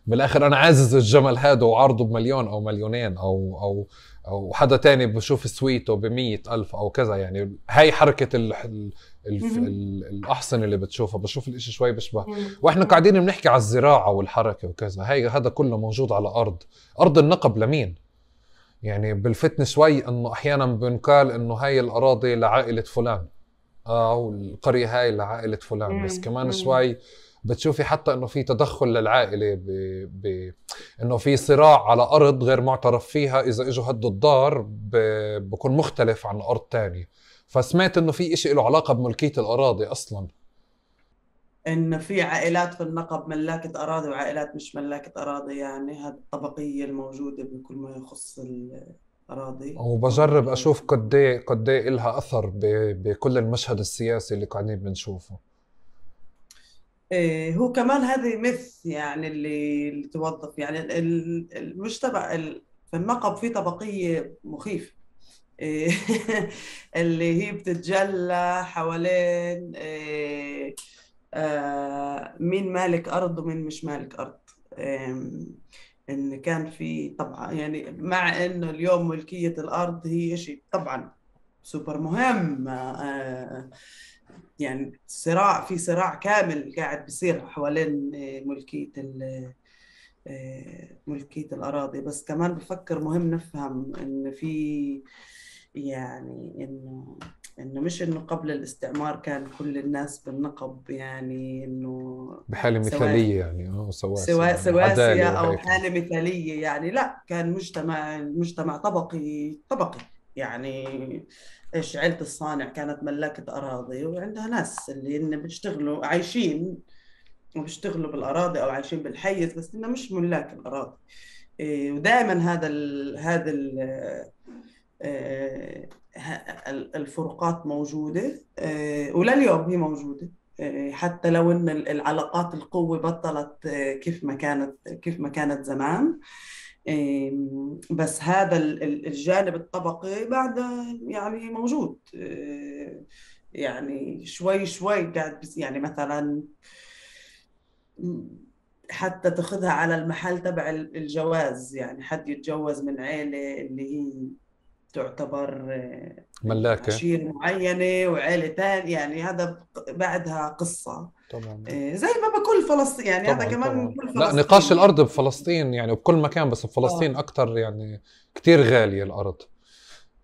بالاخر انا عازز الجمل هذا وعرضه بمليون او مليونين او او او حدا تاني بشوف سويته بمية الف او كذا. يعني هاي حركة ال ال ال الاحصنة اللي بتشوفها، بشوف الاشي شوي بشبه. واحنا قاعدين بنحكي على الزراعة والحركة وكذا، هاي هذا كله موجود على ارض ارض النقب لمين؟ يعني بالفتن شوي انه احيانا بنقال انه هاي الاراضي لعائلة فلان او القرية هاي لعائلة فلان، بس كمان شوي بتشوفي حتى انه في تدخل للعائلة ب... ب... انه في صراع على ارض غير معترف فيها، اذا اجوا هدوا الدار ب... بكون مختلف عن ارض تانية. فسمعت انه في اشي له علاقة بملكية الاراضي اصلا، إن في عائلات في النقب ملاكة أراضي وعائلات مش ملاكة أراضي. يعني هذه الطبقية الموجودة بكل ما يخص الأراضي، وبجرب أشوف قد إيه قد إيه إلها أثر بكل المشهد السياسي اللي قاعدين بنشوفه. إيه هو كمان هذه مث يعني اللي, اللي توظف يعني المجتمع في النقب في طبقية مخيفة إيه اللي هي بتتجلى حوالين إيه آه مين مالك أرض ومين مش مالك أرض. إن كان في طبعا يعني مع إنه اليوم ملكية الأرض هي شيء طبعا سوبر مهم، آه يعني صراع في صراع كامل قاعد بيصير حوالين ملكية ملكية الأراضي. بس كمان بفكر مهم نفهم إن في يعني إنه إنه مش إنه قبل الاستعمار كان كل الناس بالنقب يعني إنه بحالة مثالية يعني اه سواسية يعني سواسية أو حالة مثالية. يعني لا، كان مجتمع مجتمع طبقي طبقي. يعني إيش عيلة الصانع كانت ملاكة أراضي وعندها ناس اللي إن بيشتغلوا عايشين وبيشتغلوا بالأراضي أو عايشين بالحيز، بس إنه مش ملاك الأراضي. إيه ودائما هذا ال هذا ال الفروقات موجودة، ولليوم هي موجودة، حتى لو ان العلاقات القوة بطلت كيف ما كانت كيف ما كانت زمان. بس هذا الجانب الطبقي بعد يعني موجود، يعني شوي شوي قاعد بس يعني مثلا حتى تاخذها على المحل تبع الجواز، يعني حد يتجوز من عيلة اللي هي تعتبر ملاكة عشيرة معينة وعائلة تانية، يعني هذا بعدها قصة طبعا زي ما بكل فلسطين. يعني طبعاً هذا كمان طبعاً. بكل لا فلسطين نقاش يعني. الأرض بفلسطين يعني بكل مكان، بس بفلسطين آه. أكتر يعني كتير غالية الأرض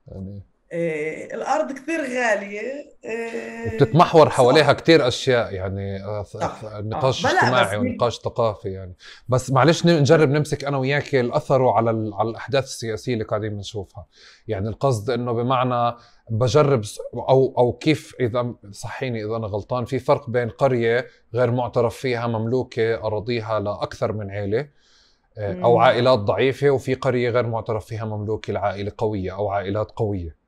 يعني. إيه الأرض كثير غالية. إيه وبتتمحور حواليها صح كتير أشياء يعني، آه، ث- ث- صح اه نقاش بلا بس اجتماعي هي ونقاش ثقافي يعني. بس معلش ن- نجرب نمسك أنا وياك الأثر على ال- على الأحداث السياسية اللي قاعدين بنشوفها. يعني القصد إنه بمعنى بجرب س- أو أو كيف، إذا صحيني إذا أنا غلطان، في فرق بين قرية غير معترف فيها مملوكة أراضيها لأكثر من عائلة، آه، أو مم. عائلات ضعيفة، وفي قرية غير معترف فيها مملوكة لعائلة قوية أو عائلات قوية.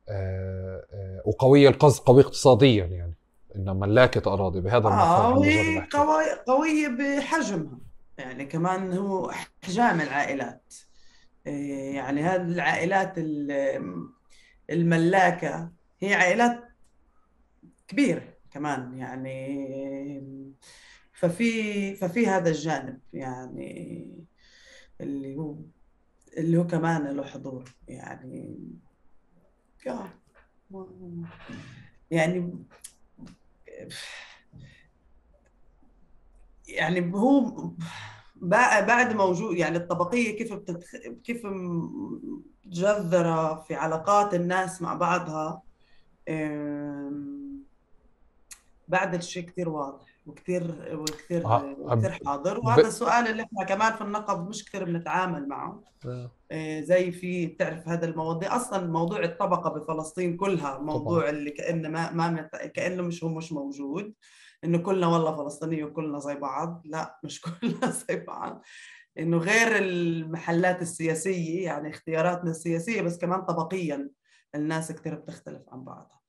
آه، آه، وقوية القصد قوية اقتصاديا يعني، إنها ملاكة أراضي، بهذا اه المفهوم بجرب وهي أحكي. قوية قوية بحجمها، يعني كمان هو احجام العائلات. إيه يعني هذه العائلات ال- الملاكة هي عائلات كبيرة كمان يعني. ففي ففي هذا الجانب يعني اللي هو اللي هو كمان له حضور يعني. آه، يعني يعني هو بقى بعد موجود يعني الطبقية كيف بتتخ... كيف مجذرة في علاقات الناس مع بعضها. أم، بعد الشيء كتير واضح وكتير وكتير ع- وكتير حاضر، ب... وهذا السؤال اللي احنا كمان في النقب مش كتير بنتعامل معه. آه، زي في بتعرف هذا المواضيع اصلا، موضوع الطبقه بفلسطين كلها طبعا. موضوع اللي كانه ما ما مت- كانه مش هو مش موجود، انه كلنا والله فلسطينيه وكلنا زي بعض. لا مش كلنا زي بعض، انه غير المحلات السياسيه يعني اختياراتنا السياسيه، بس كمان طبقيا الناس كثير بتختلف عن بعضها.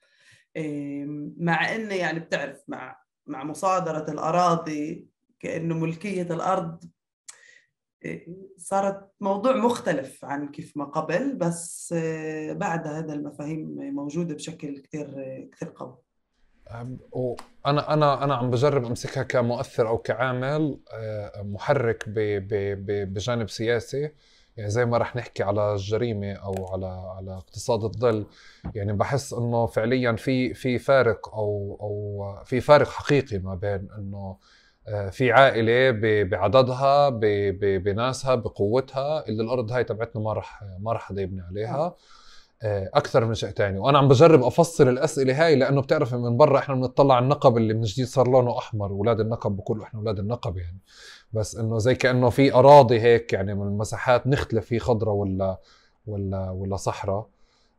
إيه، مع انه يعني بتعرف مع مع مصادره الاراضي كانه ملكيه الارض صارت موضوع مختلف عن كيف ما قبل، بس آه، بعد هذا المفاهيم موجودة بشكل كتير كتير قوي. وانا انا انا عم بجرب امسكها كمؤثر او كعامل آه، محرك ب... ب... ب... بجانب سياسي. يعني زي ما رح نحكي على الجريمه او على على اقتصاد الظل. يعني بحس انه فعليا في في فارق او او في فارق حقيقي ما بين انه آه، في عائله ب... بعددها ب... ب... بناسها بقوتها اللي الارض هاي تبعتنا ما رح ما رح حدا يبني آه. عليها اكثر من شيء تاني. وانا عم بجرب افصل الاسئله هاي لانه بتعرف من برا احنا بنطلع على النقب اللي من جديد صار لونه احمر، اولاد النقب بقولوا احنا اولاد النقب يعني. بس انه زي كانه في اراضي هيك يعني من المساحات نختلف في خضره ولا ولا ولا صحراء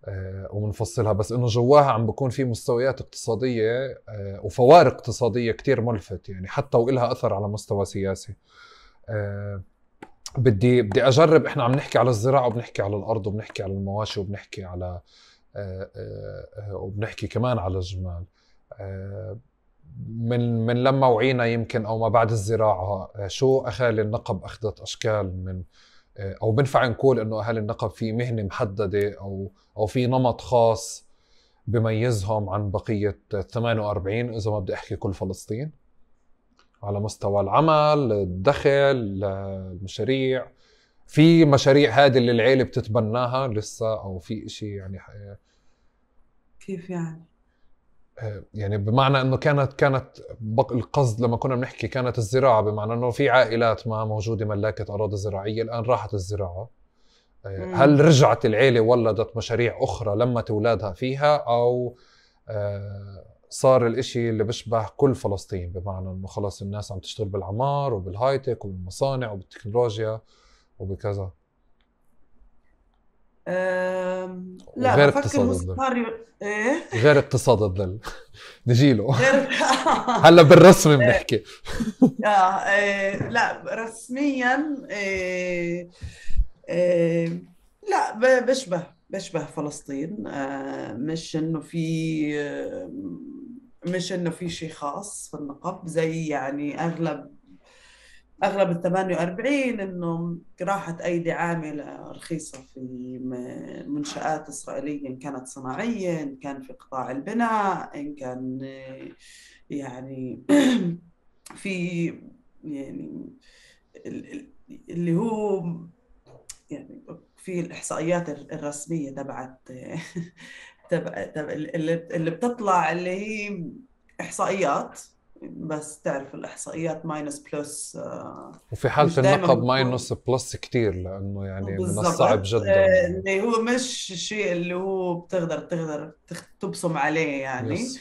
آه، ومنفصلها، بس انه جواها عم بكون في مستويات اقتصاديه آه، وفوارق اقتصاديه كتير ملفت يعني، حتى وإلها اثر على مستوى سياسي. آه، بدي بدي اجرب. احنا عم نحكي على الزراعه وبنحكي على الارض وبنحكي على المواشي وبنحكي على آه، آه، آه، وبنحكي كمان على الجمال. آه، من من لما وعينا يمكن او ما بعد الزراعه، آه، شو اهالي النقب اخذت اشكال من آه، او بنفع نقول انه اهالي النقب في مهنه محدده او او في نمط خاص بميزهم عن بقيه ثمانية وأربعين اذا ما بدي احكي كل فلسطين، على مستوى العمل، الدخل، المشاريع. في مشاريع هذه اللي العيلة بتتبناها لسه او في اشي يعني آه، كيف يعني؟ يعني بمعنى انه كانت كانت بق- القصد لما كنا بنحكي كانت الزراعه، بمعنى انه في عائلات ما موجوده ملاكه اراضي زراعيه الان راحت الزراعه. آه، هل مم. رجعت العيله ولدت مشاريع اخرى لمت اولادها فيها، او آه، صار الاشي اللي بيشبه كل فلسطين، بمعنى انه خلص الناس عم تشتغل بالعمار وبالهايتك وبالمصانع وبالتكنولوجيا وبكذا، أم... لا وغير بفكر اقتصاد هو الظل. صار ي- ايه غير اقتصاد الظل نجيله غير هلا بالرسم بنحكي. آه إيه لا رسميا إيه إيه لا ب- بشبه بشبه فلسطين. آه مش انه في آه مش انه في شيء خاص في النقب زي يعني اغلب اغلب ال ثمانية وأربعين انه راحت ايدي عامله رخيصه في م- منشآت اسرائيليه، ان كانت صناعيه، ان كان في قطاع البناء، ان كان آه، يعني في يعني ال- ال- اللي هو يعني في الإحصائيات الرسمية تبعت تبع تبع اللي اللي بتطلع اللي هي إحصائيات بس تعرف الإحصائيات ماينس بلس وفي حالة مش دايما النقب بتكون ماينس بلس كتير، لأنه يعني من الصعب بالضبط. جدا آه، يعني. اللي هو مش الشيء اللي هو بتقدر تقدر تخ- تبصم عليه يعني. يس.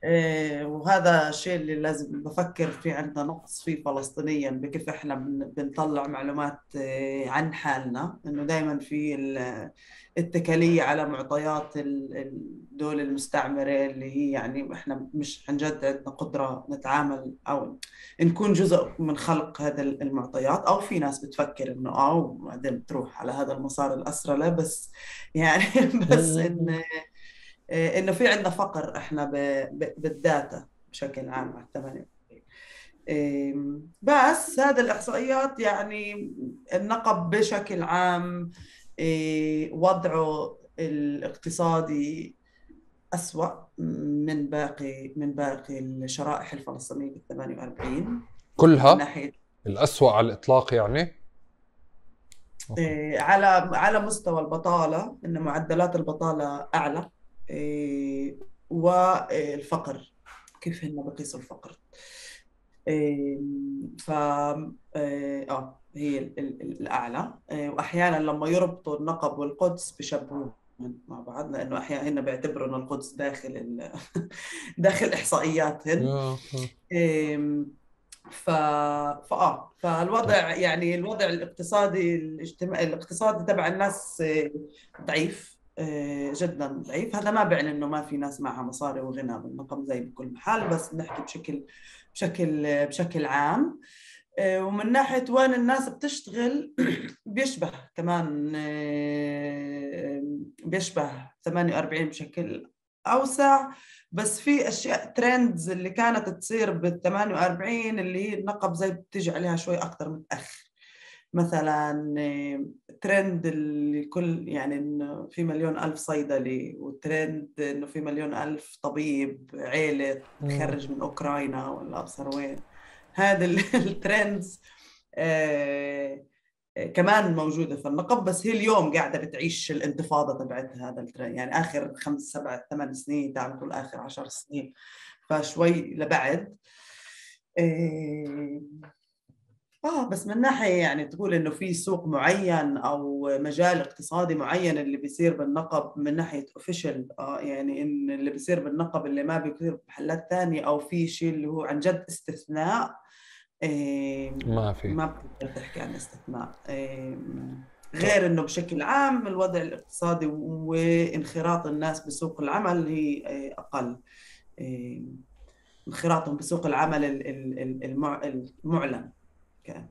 آه، وهذا الشيء اللي لازم بفكر فيه، عندنا نقص فيه فلسطينيا بكيف احنا بن- بنطلع معلومات آه، عن حالنا، انه دائما في ال- الاتكالية على معطيات ال- الدول المستعمرة، اللي هي يعني احنا مش عن جد عندنا قدرة نتعامل او نكون جزء من خلق هذا المعطيات. او في ناس بتفكر انه اه وبعدين بتروح على هذا المسار الاسرى. لا بس يعني بس ان انه في عندنا فقر احنا ب- ب- بالداتا بشكل عام على الثمانية. بس هذا الإحصائيات يعني النقب بشكل عام إيه، وضعه الاقتصادي أسوأ من باقي من باقي الشرائح الفلسطينية بال ثمانية وأربعين من كلها ناحية الأسوأ على الإطلاق يعني. أوكي. إيه، على على مستوى البطالة، إن معدلات البطالة أعلى، إيه، والفقر كيف هن بقيسوا الفقر. إيه، ف إيه، اه هي ال- ال- الأعلى. إيه، وأحيانا لما يربطوا النقب والقدس بشبهوهم مع بعض، لأنه أحيانا هن بيعتبروا إنه القدس داخل ال... داخل إحصائياتهن. يا- إيه، ف... فآه فالوضع يعني الوضع الاقتصادي الاجتماعي الاقتصادي تبع الناس آه، ضعيف، آه، جدا ضعيف. هذا ما بيعني انه ما في ناس معها مصاري وغنى بالنقم زي بكل محل، بس نحكي بشكل بشكل بشكل عام. آه، ومن ناحية وين الناس بتشتغل بيشبه كمان، آه، بيشبه ثمانية وأربعين بشكل أوسع. بس في أشياء ترندز اللي كانت تصير بال ثمانية وأربعين اللي هي النقب زي بتيجي عليها شوي أكتر متأخر. مثلا آه، ترند اللي كل يعني إنه في مليون ألف صيدلي، وترند إنه في مليون ألف طبيب عيلة تخرج من أوكرانيا ولا أبصر وين. هذا الترندز آه آه، كمان موجودة في النقب، بس هي اليوم قاعدة بتعيش الانتفاضة تبعت هذا الترند، يعني آخر خمس سبع ثمان سنين، تعال نقول آخر عشر سنين، فشوي لبعد. آه آه بس من ناحية يعني تقول إنه في سوق معين أو مجال اقتصادي معين اللي بيصير بالنقب من ناحية اوفيشال، آه يعني إن اللي بيصير بالنقب اللي ما بيصير بمحلات ثانية، أو في شيء اللي هو عن جد استثناء. إيه، ما في. ما بتقدر تحكي عن استثناء. إيه، طيب. غير إنه بشكل عام الوضع الاقتصادي وانخراط الناس بسوق العمل هي إيه، أقل. إيه، انخراطهم بسوق العمل ال- ال- ال- المع- المعلن كان.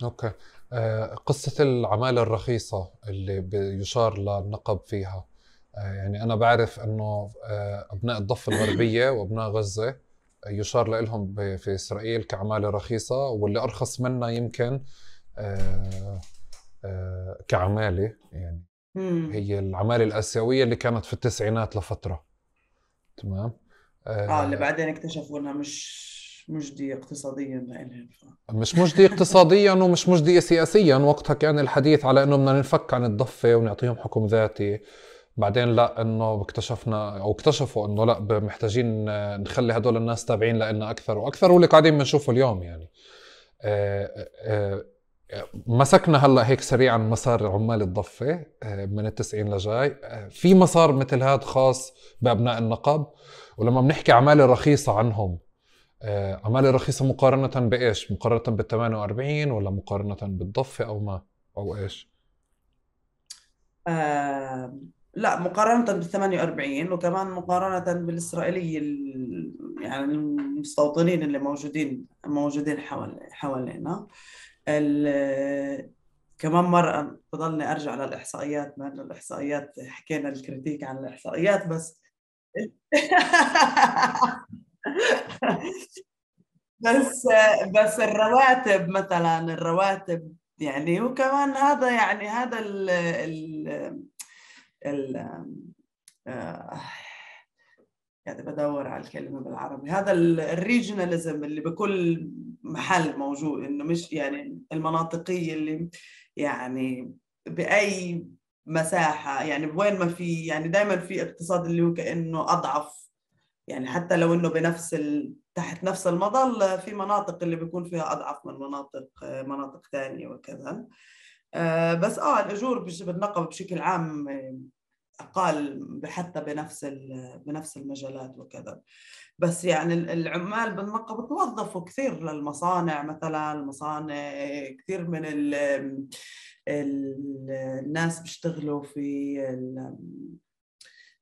اوكي. آه، قصة العمالة الرخيصة اللي بيشار للنقب فيها، آه، يعني أنا بعرف أنه آه، أبناء الضفة الغربية وأبناء غزة يشار لهم ب- في إسرائيل كعمالة رخيصة، واللي أرخص منها يمكن آه، آه، كعمالة يعني مم. هي العمالة الآسيوية اللي كانت في التسعينات لفترة. تمام. اه اللي آه، بعدين اكتشفوا انها مش مجدية اقتصاديا لإلهم. مش مجدي اقتصاديا ومش مجدي سياسيا. وقتها كان الحديث على انه بدنا ننفك عن الضفة ونعطيهم حكم ذاتي. بعدين لا، انه اكتشفنا او اكتشفوا انه لا، محتاجين نخلي هدول الناس تابعين لنا اكثر واكثر، واللي قاعدين بنشوفه اليوم يعني. آه، آه، مسكنا هلا هيك سريعا مسار عمال الضفة آه، من التسعين لجاي. آه، في مسار مثل هذا خاص بأبناء النقب. ولما بنحكي عمالة رخيصة عنهم، آه، عمالة رخيصة مقارنة بإيش؟ مقارنة بال ثمانية وأربعين ولا مقارنة بالضفة أو ما أو إيش؟ آه لا، مقارنة بال ثمانية وأربعين، وكمان مقارنة بالإسرائيلي ال- يعني المستوطنين اللي موجودين موجودين حوالي حوالينا. ال- كمان مرة بضلني أرجع للإحصائيات، مع إنه الإحصائيات حكينا الكريتيك عن الإحصائيات بس. بس بس الرواتب مثلا، الرواتب يعني، وكمان هذا يعني هذا ال ال ال آه، يعني بدور على الكلمة بالعربي، هذا الريجناليزم اللي بكل محل موجود، انه مش يعني المناطقية اللي يعني بأي مساحة، يعني وين ما في، يعني دائما في اقتصاد اللي هو كأنه أضعف، يعني حتى لو إنه بنفس ال... تحت نفس المظلة في مناطق اللي بيكون فيها أضعف من مناطق مناطق ثانية وكذا. آه بس آه الأجور بالنقب بشكل عام أقل حتى بنفس بنفس المجالات وكذا. بس يعني العمال بالنقب توظفوا كثير للمصانع، مثلا المصانع كثير من ال ال الناس بيشتغلوا في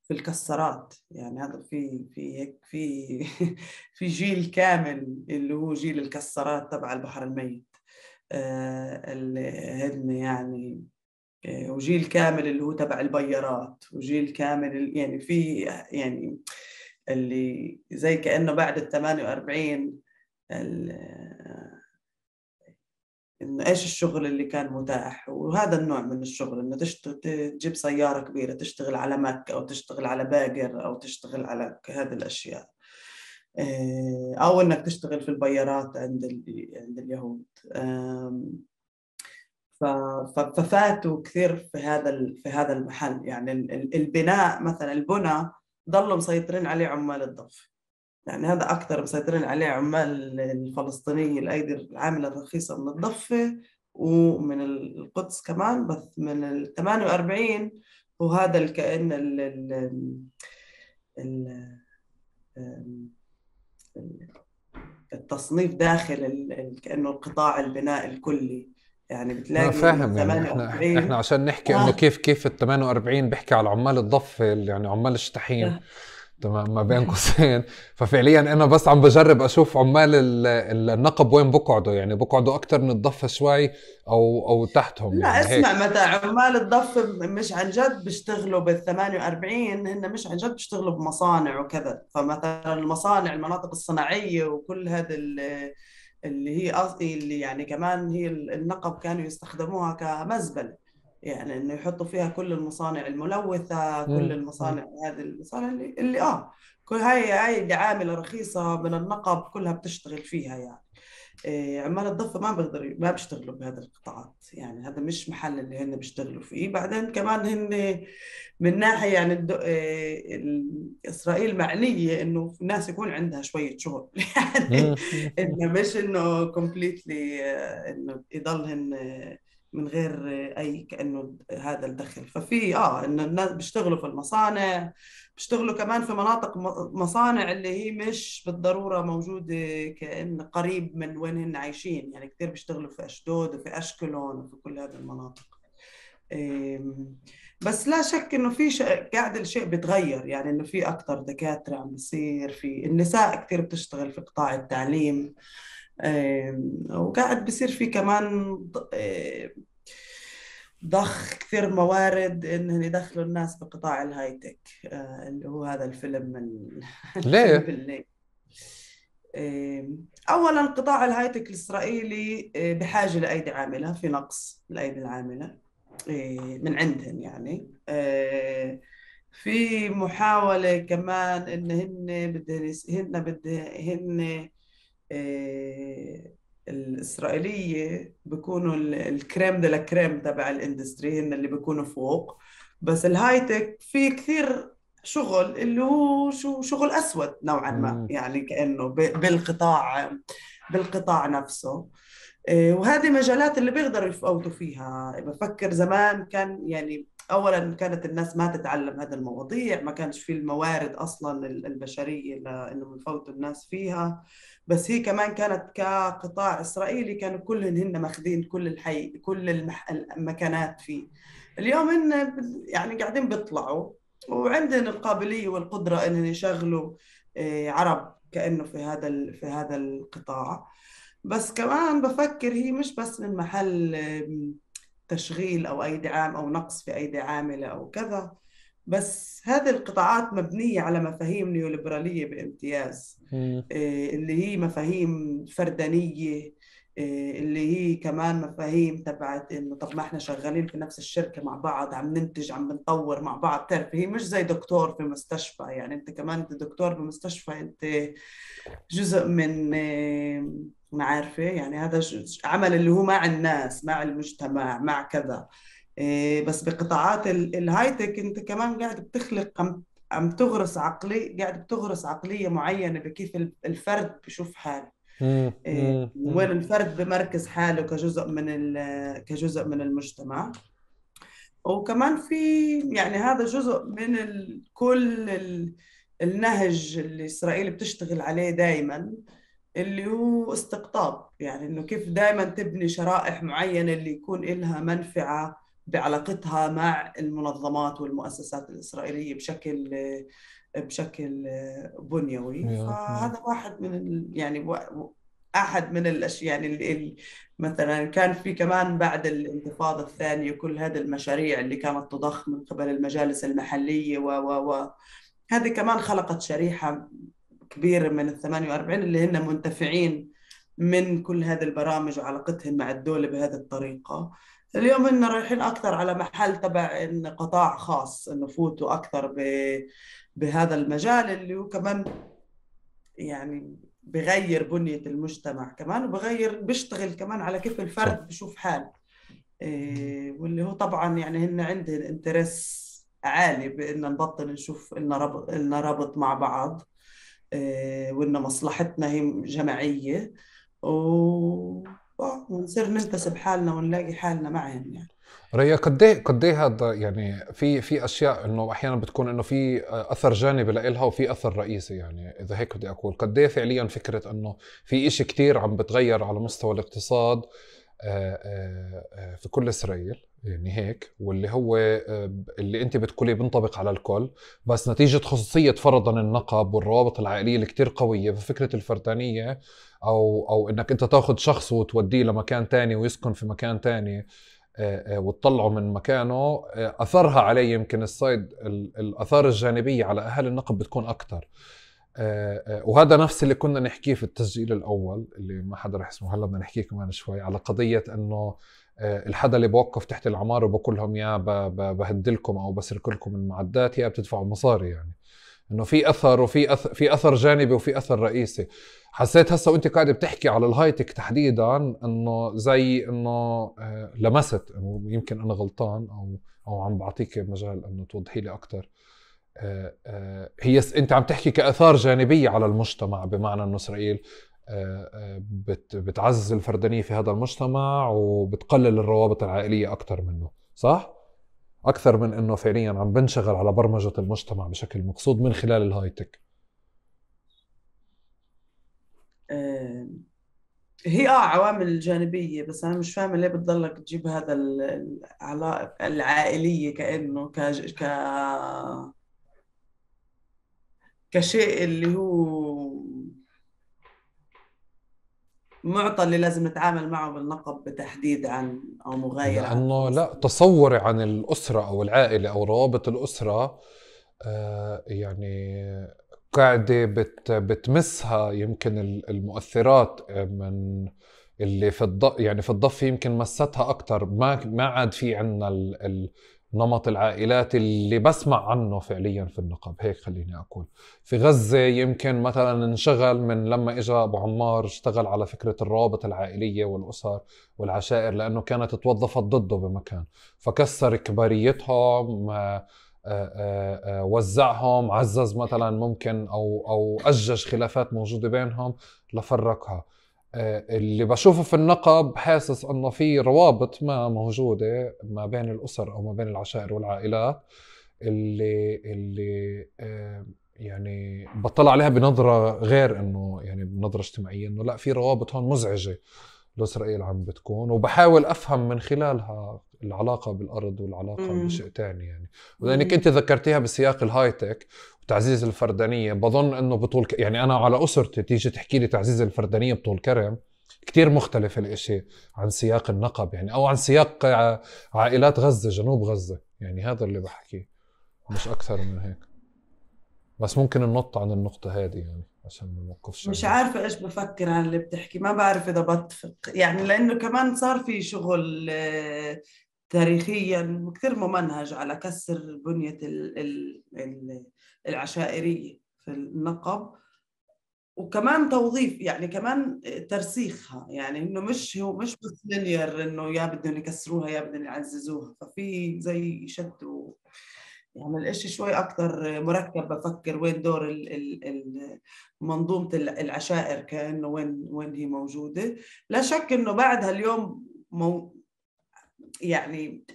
في الكسرات. يعني هذا في في هيك في في جيل كامل اللي هو جيل الكسرات تبع البحر الميت، آه اللي هن يعني، وجيل كامل اللي هو تبع البيارات، وجيل كامل يعني في يعني اللي زي كأنه بعد ال ثمانية وأربعين إنه إيش الشغل اللي كان متاح. وهذا النوع من الشغل إنه تشتغل تجيب سيارة كبيرة تشتغل على مك أو تشتغل على باجر أو تشتغل على هذه الأشياء، أو إنك تشتغل في البيارات عند عند اليهود. ففاتوا كثير في هذا في هذا المحل. يعني البناء مثلا، البناء ضلوا مسيطرين عليه عمال الضف، يعني هذا أكثر مسيطرين عليه عمال الفلسطينية الأيدي العاملة الرخيصة من الضفة ومن القدس كمان. بس من ال ثمانية وأربعين وهذا الكائن ال ال التصنيف داخل كأنه القطاع البناء الكلي. يعني ما بتلاقي فاهم يعني احنا احنا عشان نحكي انه آه. كيف كيف ال ثمانية وأربعين بيحكي على عمال الضفة، يعني عمال الشتحيم، تمام، ما بين قوسين. ففعليا انا بس عم بجرب اشوف عمال النقب وين بقعدوا، يعني بقعدوا اكتر من الضفة شوي او او تحتهم. لا يعني اسمع، هيك متى عمال الضف مش عن جد بيشتغلوا بال ثمانية وأربعين، هن مش عن جد بيشتغلوا بمصانع وكذا. فمثلا المصانع، المناطق الصناعية وكل هذا اللي هي قصدي اللي يعني كمان هي النقب كانوا يستخدموها كمزبلة، يعني انه يحطوا فيها كل المصانع الملوثة، كل المصانع هذه المصانع اللي, اللي اه كل هاي هاي اللي عاملة رخيصة من النقب كلها بتشتغل فيها. يعني إيه، عمال الضفة ما بيقدروا ما بيشتغلوا بهذه القطاعات، يعني هذا مش محل اللي هن بيشتغلوا فيه. بعدين كمان هن من ناحية يعني الدو... إيه، إسرائيل معنية إنه الناس يكون عندها شوية شغل يعني إنه مش إنه كومبليتلي إنه يضلهن من غير أي كأنه هذا الدخل. ففي آه إنه الناس بيشتغلوا في المصانع، بيشتغلوا كمان في مناطق مصانع اللي هي مش بالضرورة موجودة كأن قريب من وين هن عايشين. يعني كثير بيشتغلوا في أشدود وفي أشكلون وفي كل هذه المناطق. بس لا شك إنه في شيء قاعد الشيء بيتغير، يعني إنه في أكثر دكاترة عم بيصير، في النساء كثير بتشتغل في قطاع التعليم، وقاعد بيصير في كمان ضخ كثير موارد إنهم يدخلوا الناس بقطاع الهايتك، اللي هو هذا الفيلم الفيلم ليه؟ بالليل. أولاً قطاع الهايتك الإسرائيلي بحاجة لأيدي عاملة، في نقص الأيدي العاملة من عندهم. يعني في محاولة كمان إن هن بدهن هن بدهن الإسرائيلية بيكونوا الكريم دي لا كريم تبع الاندستري، هن اللي بيكونوا فوق. بس الهايتك في كثير شغل اللي هو شو شغل أسود نوعا ما، يعني كأنه بالقطاع بالقطاع نفسه. وهذه مجالات اللي بيقدروا يفوتوا فيها. بفكر زمان كان يعني أولا كانت الناس ما تتعلم هذه المواضيع، ما كانش في الموارد أصلا البشرية لأنه يفوتوا الناس فيها. بس هي كمان كانت كقطاع إسرائيلي كانوا كلهن هن ماخذين كل الحي كل المح... المكانات فيه. اليوم هن يعني قاعدين بيطلعوا وعندهم القابلية والقدرة إنهم يشغلوا عرب كأنه في هذا في هذا القطاع. بس كمان بفكر هي مش بس من محل تشغيل أو أيدي عام أو نقص في أيدي عاملة أو كذا، بس هذه القطاعات مبنية على مفاهيم نيوليبرالية بامتياز، اللي هي مفاهيم فردانية، اللي هي كمان مفاهيم تبعت إنه طب ما إحنا شغالين في نفس الشركة مع بعض، عم ننتج عم بنطور مع بعض. تعرف هي مش زي دكتور في مستشفى، يعني أنت كمان أنت دكتور بمستشفى، أنت جزء من ما عارفة يعني هذا عمل اللي هو مع الناس مع المجتمع مع كذا. بس بقطاعات الهايتك انت كمان قاعد بتخلق عم تغرس عقلية، قاعد بتغرس عقلية معينة بكيف الفرد بشوف حاله، مم. إيه، مم. وين الفرد بمركز حاله كجزء من ال- كجزء من المجتمع. وكمان في يعني هذا جزء من ال... كل ال... النهج اللي إسرائيل بتشتغل عليه دائما، اللي هو استقطاب، يعني إنه كيف دائما تبني شرائح معينة اللي يكون إلها منفعة بعلاقتها مع المنظمات والمؤسسات الإسرائيلية بشكل بشكل بنيوي. يا- يا. فهذا واحد من ال... يعني و- أحد من الأشياء يعني ال... ال- مثلا كان في كمان بعد الانتفاضة الثانية كل هذه المشاريع اللي كانت تضخ من قبل المجالس المحلية و و و هذه كمان خلقت شريحة كبيرة من ال ثمانية وأربعين اللي هن منتفعين من كل هذه البرامج وعلاقتهم مع الدولة بهذه الطريقة. اليوم إن رايحين أكثر على محل تبع إن قطاع خاص إنه فوتوا أكثر ب... بهذا المجال اللي هو كمان يعني بغير بنية المجتمع كمان، وبغير بيشتغل كمان على كيف صح. الفرد بشوف حاله. إيه، واللي هو طبعا يعني هن عندهم انترس عالي بإن نبطل نشوف إلنا ربط إلنا ربط مع بعض، إيه، وإن مصلحتنا هي جماعية، و آه، ونصير ننتسب حالنا ونلاقي حالنا معهم يعني. ريا، قد ايه قد ايه هذا يعني في في اشياء انه احيانا بتكون انه في اثر جانبي لإلها وفي اثر رئيسي، يعني اذا هيك بدي اقول قد ايه فعليا فكره انه في إشي كتير عم بتغير على مستوى الاقتصاد آه، آه، آه، في كل اسرائيل، يعني هيك، واللي هو آه، اللي انت بتقوليه بينطبق على الكل، بس نتيجه خصوصيه فرضا النقب والروابط العائليه اللي كتير قويه، ففكره الفردانيه او او انك انت تاخذ شخص وتوديه لمكان تاني ويسكن في مكان تاني آه، آه، وتطلعه من مكانه، آه، اثرها عليه يمكن السايد ال- الاثار الجانبيه على اهل النقب بتكون اكثر. وهذا نفس اللي كنا نحكيه في التسجيل الاول اللي ما حدا رح يسمعه هلا، بدنا نحكيه كمان شوي على قضيه انه آه، الحدا اللي بوقف تحت العماره وبقول لهم يا ب- ب- بهدلكم او بسرق لكم المعدات يا بتدفعوا مصاري، يعني انه في اثر وفي أثر، في اثر جانبي وفي اثر رئيسي. حسيت هسه وانت قاعد بتحكي على الهايتك تحديدا انه زي انه آه، لمست انه يمكن انا غلطان او او عم بعطيك مجال انه توضحي لي اكثر. آه، آه، هي س- انت عم تحكي كاثار جانبيه على المجتمع، بمعنى انه اسرائيل آه، آه، بت- بتعزز الفردانيه في هذا المجتمع وبتقلل الروابط العائليه اكثر منه، صح؟ اكثر من انه فعليا عم بنشغل على برمجه المجتمع بشكل مقصود من خلال الهايتك. آه، هي اه عوامل جانبية، بس أنا مش فاهمة ليه بتضلك تجيب هذا ال- العلاقة العائلية كأنه ك... ك... كشيء اللي هو معطى اللي لازم نتعامل معه بالنقب بتحديد عن أو مغاير عن لانه لا، فلسطين. تصوري عن الاسره او العائله او روابط الاسره آه، يعني قاعدة بت بتمسها يمكن ال- المؤثرات آه، من اللي في الض يعني في الضفة يمكن مستها أكتر. ما ما عاد في عنا ال... ال... نمط العائلات اللي بسمع عنه فعليا في النقب، هيك خليني أقول. في غزة يمكن مثلا انشغل من لما إجا أبو عمار، اشتغل على فكرة الروابط العائلية والأسر والعشائر لأنه كانت توظفت ضده بمكان، فكسر كباريتهم آه، آه، آه، آه، وزعهم، عزز مثلا ممكن او او اجج خلافات موجوده بينهم لفرقها. آه، اللي بشوفه في النقب حاسس انه في روابط ما موجوده ما بين الاسر او ما بين العشائر والعائلات اللي اللي آه، يعني بطلع عليها بنظره غير انه يعني بنظره اجتماعيه، انه لا، في روابط هون مزعجه لإسرائيل عم بتكون، وبحاول أفهم من خلالها العلاقة بالأرض والعلاقة مم. بشيء تاني يعني. ولأنك أنت مم. ذكرتيها بسياق الهايتك وتعزيز الفردانية، بظن أنه بطول ك... يعني أنا على أسرتي تيجي تحكي لي تعزيز الفردانية بطول كرم، كتير مختلف الإشي عن سياق النقب، يعني أو عن سياق ع- عائلات غزة، جنوب غزة، يعني هذا اللي بحكيه مش أكثر من هيك. بس ممكن ننط عن النقطة هذه يعني عشان ما نوقفش مش عندها. عارفة إيش بفكر عن اللي بتحكي، ما بعرف إذا بتفق يعني، لأنه كمان صار في شغل آه، تاريخيا كثير ممنهج على كسر بنية ال- ال- ال- العشائرية في النقب، وكمان توظيف يعني كمان ترسيخها، يعني انه مش هو مش بس لينير انه يا بدهم يكسروها يا بدهم يعززوها، ففي زي شد و- يعني الإشي شوي أكتر مركب. بفكر وين دور ال ال ال منظومة العشائر، كأنه وين وين هي موجودة. لا شك إنه بعدها اليوم مو يعني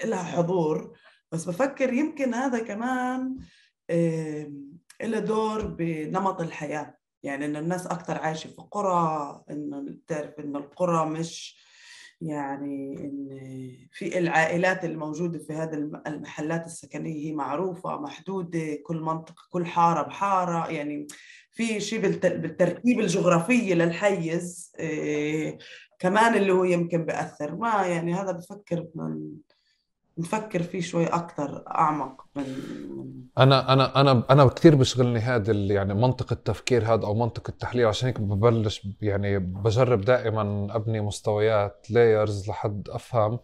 لها حضور، بس بفكر يمكن هذا كمان له دور بنمط الحياة. يعني إن الناس أكتر عايشة في قرى، إنه تعرف إنه القرى مش يعني إن في العائلات الموجودة في هذه المحلات السكنية هي معروفة محدودة، كل منطقة كل حارة بحارة، يعني في شيء بالترتيب الجغرافي للحيز إيه كمان اللي هو يمكن بأثر. ما يعني هذا بفكر من نفكر فيه شوي أكتر أعمق من انا انا انا انا كثير بشغلني هذا يعني منطق التفكير هذا او منطق التحليل. عشان هيك ببلش يعني بجرب دائما ابني مستويات لايرز لحد افهم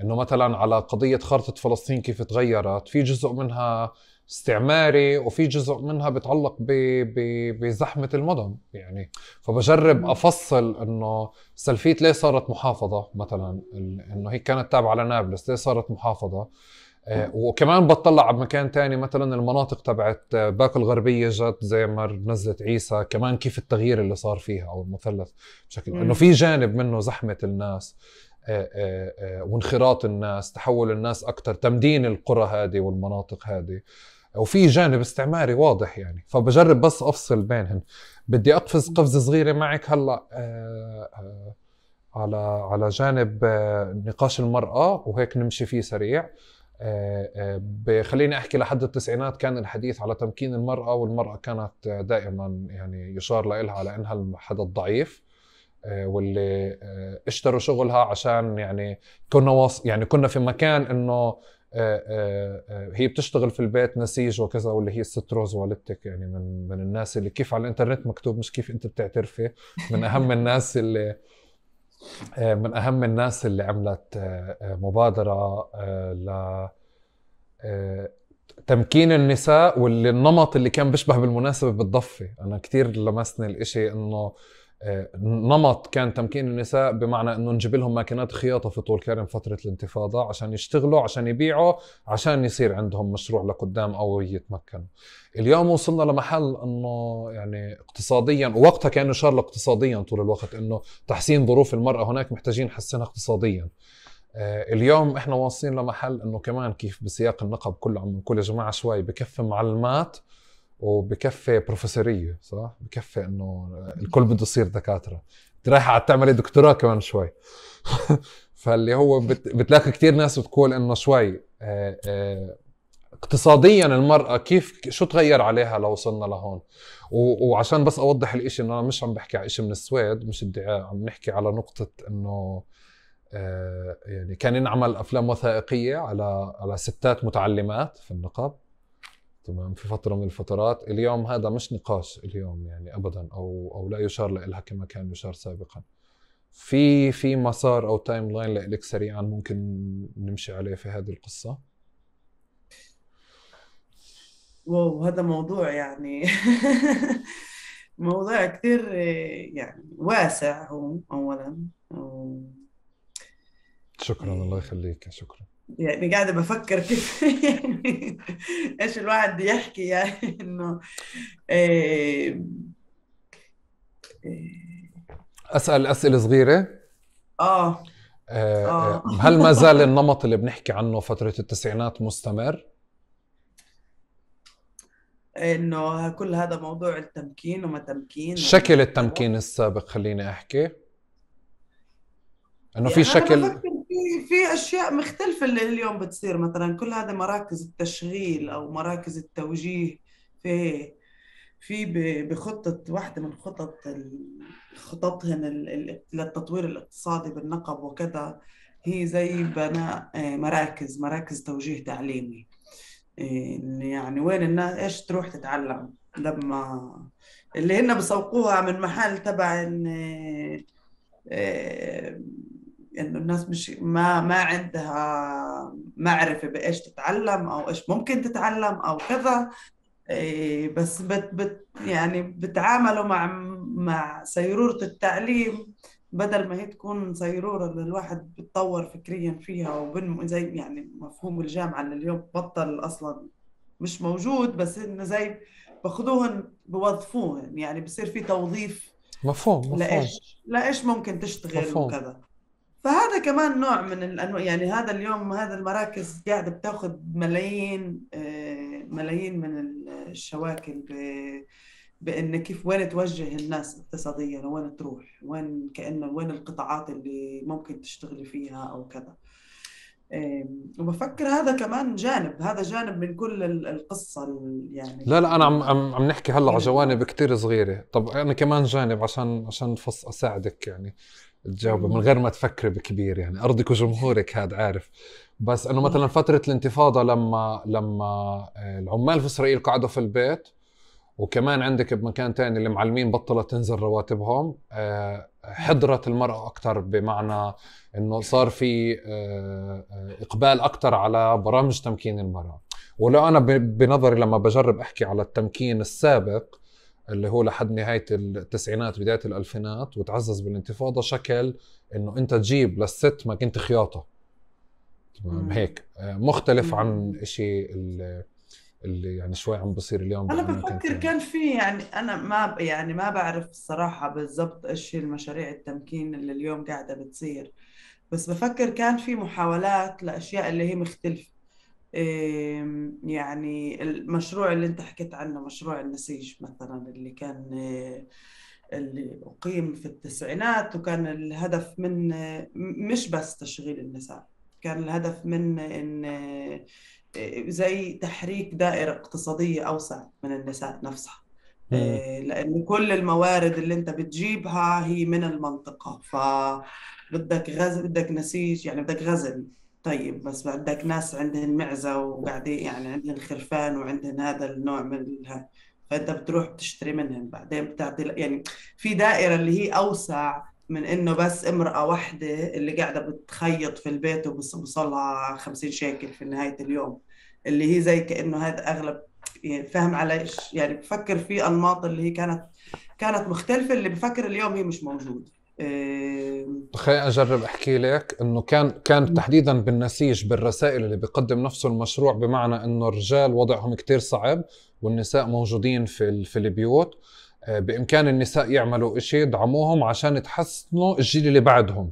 انه مثلا على قضية خارطة فلسطين كيف تغيرت، في جزء منها استعماري وفي جزء منها بيتعلق بزحمة المدن يعني. فبجرب افصل انه سلفيت ليه صارت محافظة مثلا، انه هي كانت تابعة لنابلس ليه صارت محافظة. وكمان بطلع على مكان تاني مثلا المناطق تبعت باكو الغربية جت زي ما نزلت عيسى، كمان كيف التغيير اللي صار فيها او المثلث بشكل انه في جانب منه زحمة الناس وانخراط الناس، تحول الناس اكتر، تمدين القرى هذه والمناطق هذه، وفي جانب استعماري واضح يعني. فبجرب بس افصل بينهم. بدي اقفز قفزة صغيرة معك هلا على على جانب نقاش المرأة وهيك نمشي فيه سريع. بخليني أحكي لحد التسعينات كان الحديث على تمكين المرأة، والمرأة كانت دائما يعني يشار لها على أنها الحدث الضعيف واللي اشتروا شغلها عشان يعني كنا واص يعني كنا في مكان إنه هي بتشتغل في البيت نسيج وكذا، واللي هي الست روز والدتك يعني من من الناس اللي كيف على الإنترنت مكتوب مش كيف أنت بتعترفي، من أهم الناس اللي من أهم الناس اللي عملت مبادرة ل تمكين النساء، واللي النمط اللي كان بيشبه بالمناسبة بالضفة. أنا كتير لمسني الإشي إنه نمط كان تمكين النساء بمعنى إنه نجيب لهم ماكينات خياطة في طول كرم فترة الانتفاضة عشان يشتغلوا، عشان يبيعوا، عشان يصير عندهم مشروع لقدام أو يتمكنوا. اليوم وصلنا لمحل إنه يعني اقتصاديا، ووقتها كان يشار اقتصاديا طول الوقت إنه تحسين ظروف المرأة هناك محتاجين نحسنها اقتصاديا. اليوم احنا واصلين لمحل انه كمان كيف بسياق النقب كله عم نقول يا جماعه شوي بكفي معلمات وبكفي بروفيسوريه، صح؟ بكفي انه الكل بده يصير دكاتره، انت رايحه على تعملي دكتوراه كمان شوي. فاللي هو بت... بتلاقي كتير ناس بتقول انه شوي اه اه اقتصاديا المرأة كيف شو تغير عليها لو وصلنا لهون. و... وعشان بس اوضح الاشي انه انا مش عم بحكي على اشي من السويد، مش ادعاء، عم نحكي على نقطة انه آه يعني كان ينعمل افلام وثائقيه على على ستات متعلمات في النقب، تمام، في فتره من الفترات. اليوم هذا مش نقاش اليوم يعني ابدا، او او لا يشار لها كما كان يشار سابقا. في في مسار او تايم لاين لك سريعا ممكن نمشي عليه في هذه القصه؟ واو هذا موضوع يعني موضوع كثير يعني واسع هو اولا. شكرا الله يخليك، شكرا. يعني قاعدة بفكر كيف يعني ايش الواحد بده يحكي يعني انه إيه إيه اسال اسئله صغيره. اه آه اه هل ما زال النمط اللي بنحكي عنه فتره التسعينات مستمر؟ انه كل هذا موضوع التمكين وما تمكين شكل التمكين السابق خليني احكي انه في يعني انا شكل. بفكر في في اشياء مختلفه اللي اليوم بتصير. مثلا كل هذا مراكز التشغيل او مراكز التوجيه في في ب- بخطه واحده من خطط ال- خططهن ال- ال- للتطوير الاقتصادي بالنقب وكذا، هي زي بناء آه، مراكز مراكز توجيه تعليمي. إن يعني وين الناس ايش تروح تتعلم لما اللي هن بسوقوها من محل تبع ان آه، انه الناس مش ما ما عندها معرفة بايش تتعلم او ايش ممكن تتعلم او كذا. إيه، بس بت بت يعني بتعاملوا مع مع سيرورة التعليم بدل ما هي تكون صيرورة اللي الواحد بيتطور فكريا فيها وبن زي يعني مفهوم الجامعة اللي اليوم بطل أصلا مش موجود، بس إنه زي باخدوهن بوظفوهن، يعني بصير في توظيف مفهوم مفهوم لإيش لإيش ممكن تشتغل مفهوم. وكذا. فهذا كمان نوع من الأنواع، يعني هذا اليوم هذا المراكز قاعدة بتاخذ ملايين آه، ملايين من الشواكل ب- بأن كيف وين توجه الناس اقتصاديا وين تروح، وين كأنه وين القطاعات اللي ممكن تشتغلي فيها أو كذا. آم، وبفكر هذا كمان جانب، هذا جانب من كل ال- القصة ال- يعني لا لا، انا عم ال- عم عم نحكي هلا على من جوانب الدراسة. كتير صغيره. طب انا كمان جانب عشان عشان فص اساعدك يعني تجاوب من مم. غير ما تفكري بكبير، يعني ارضك وجمهورك هذا عارف. بس انه مثلا صح. فتره الانتفاضه لما لما آه، العمال في اسرائيل قعدوا في البيت، وكمان عندك بمكان تاني المعلمين بطلت تنزل رواتبهم، آه، حضرت المرأة أكتر، بمعنى إنه صار في آه، آه، إقبال أكتر على برامج تمكين المرأة. ولو أنا ب- بنظري لما بجرب أحكي على التمكين السابق اللي هو لحد نهاية التسعينات بداية الألفينات وتعزز بالانتفاضة، شكل إنه أنت تجيب للست ما كنت خياطة، تمام مم. هيك، آه، مختلف عن مم. إشي اللي اللي يعني شوي عم بصير اليوم أنا بأماكن بفكر تانية. كان في، يعني أنا ما ب- يعني ما بعرف الصراحة بالضبط إيش هي المشاريع التمكين اللي اليوم قاعدة بتصير، بس بفكر كان في محاولات لأشياء اللي هي مختلفة. إيه، يعني المشروع اللي أنت حكيت عنه، مشروع النسيج مثلا، اللي كان إيه، اللي أقيم في التسعينات، وكان الهدف من م- مش بس تشغيل النساء، كان الهدف من إن إيه، زي تحريك دائرة اقتصادية أوسع من النساء نفسها. مم. إيه، لأن كل الموارد اللي أنت بتجيبها هي من المنطقة، فبدك غزل، بدك نسيج، يعني بدك غزل. طيب بس بدك ناس عندهم معزة وقاعدين، يعني عندهم خرفان وعندهم هذا النوع من ال... فأنت بتروح بتشتري منهم، بعدين بتعطي، يعني في دائرة اللي هي أوسع من إنه بس امرأة واحدة اللي قاعدة بتخيط في البيت وبوصلها خمسين شيكل في نهاية اليوم، اللي هي زي كأنه هذا أغلب، يعني فاهم علي إيش؟ يعني بفكر في أنماط اللي هي كانت كانت مختلفة، اللي بفكر اليوم هي مش موجودة. إيه... خليني اجرب احكي لك انه كان كان تحديدا بالنسيج بالرسائل اللي بيقدم نفسه المشروع، بمعنى انه الرجال وضعهم كتير صعب والنساء موجودين في ال- في البيوت، آه، بامكان النساء يعملوا اشي يدعموهم عشان يتحسنوا الجيل اللي بعدهم.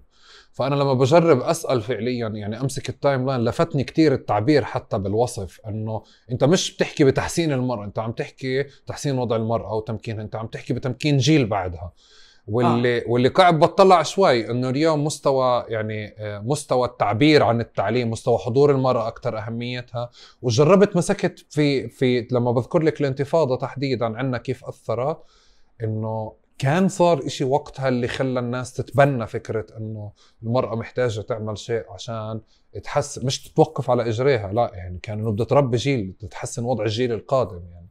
فانا لما بجرب اسال فعليا، يعني امسك التايم لاين، لفتني كتير التعبير حتى بالوصف، انه انت مش بتحكي بتحسين المراه، انت عم تحكي تحسين وضع المراه وتمكينها، انت عم تحكي بتمكين جيل بعدها. آه واللي واللي قاعد بطلع شوي انه اليوم مستوى، يعني آه، مستوى التعبير عن التعليم، مستوى حضور المرأة اكثر اهميتها. وجربت مسكت في في لما بذكر لك الانتفاضة تحديدا عنا كيف اثرت، انه كان صار اشي وقتها اللي خلى الناس تتبنى فكرة انه المرأة محتاجة تعمل شيء عشان تحسن، مش تتوقف على اجريها، لا يعني كان انه بدها تربي جيل تتحسن وضع الجيل القادم يعني.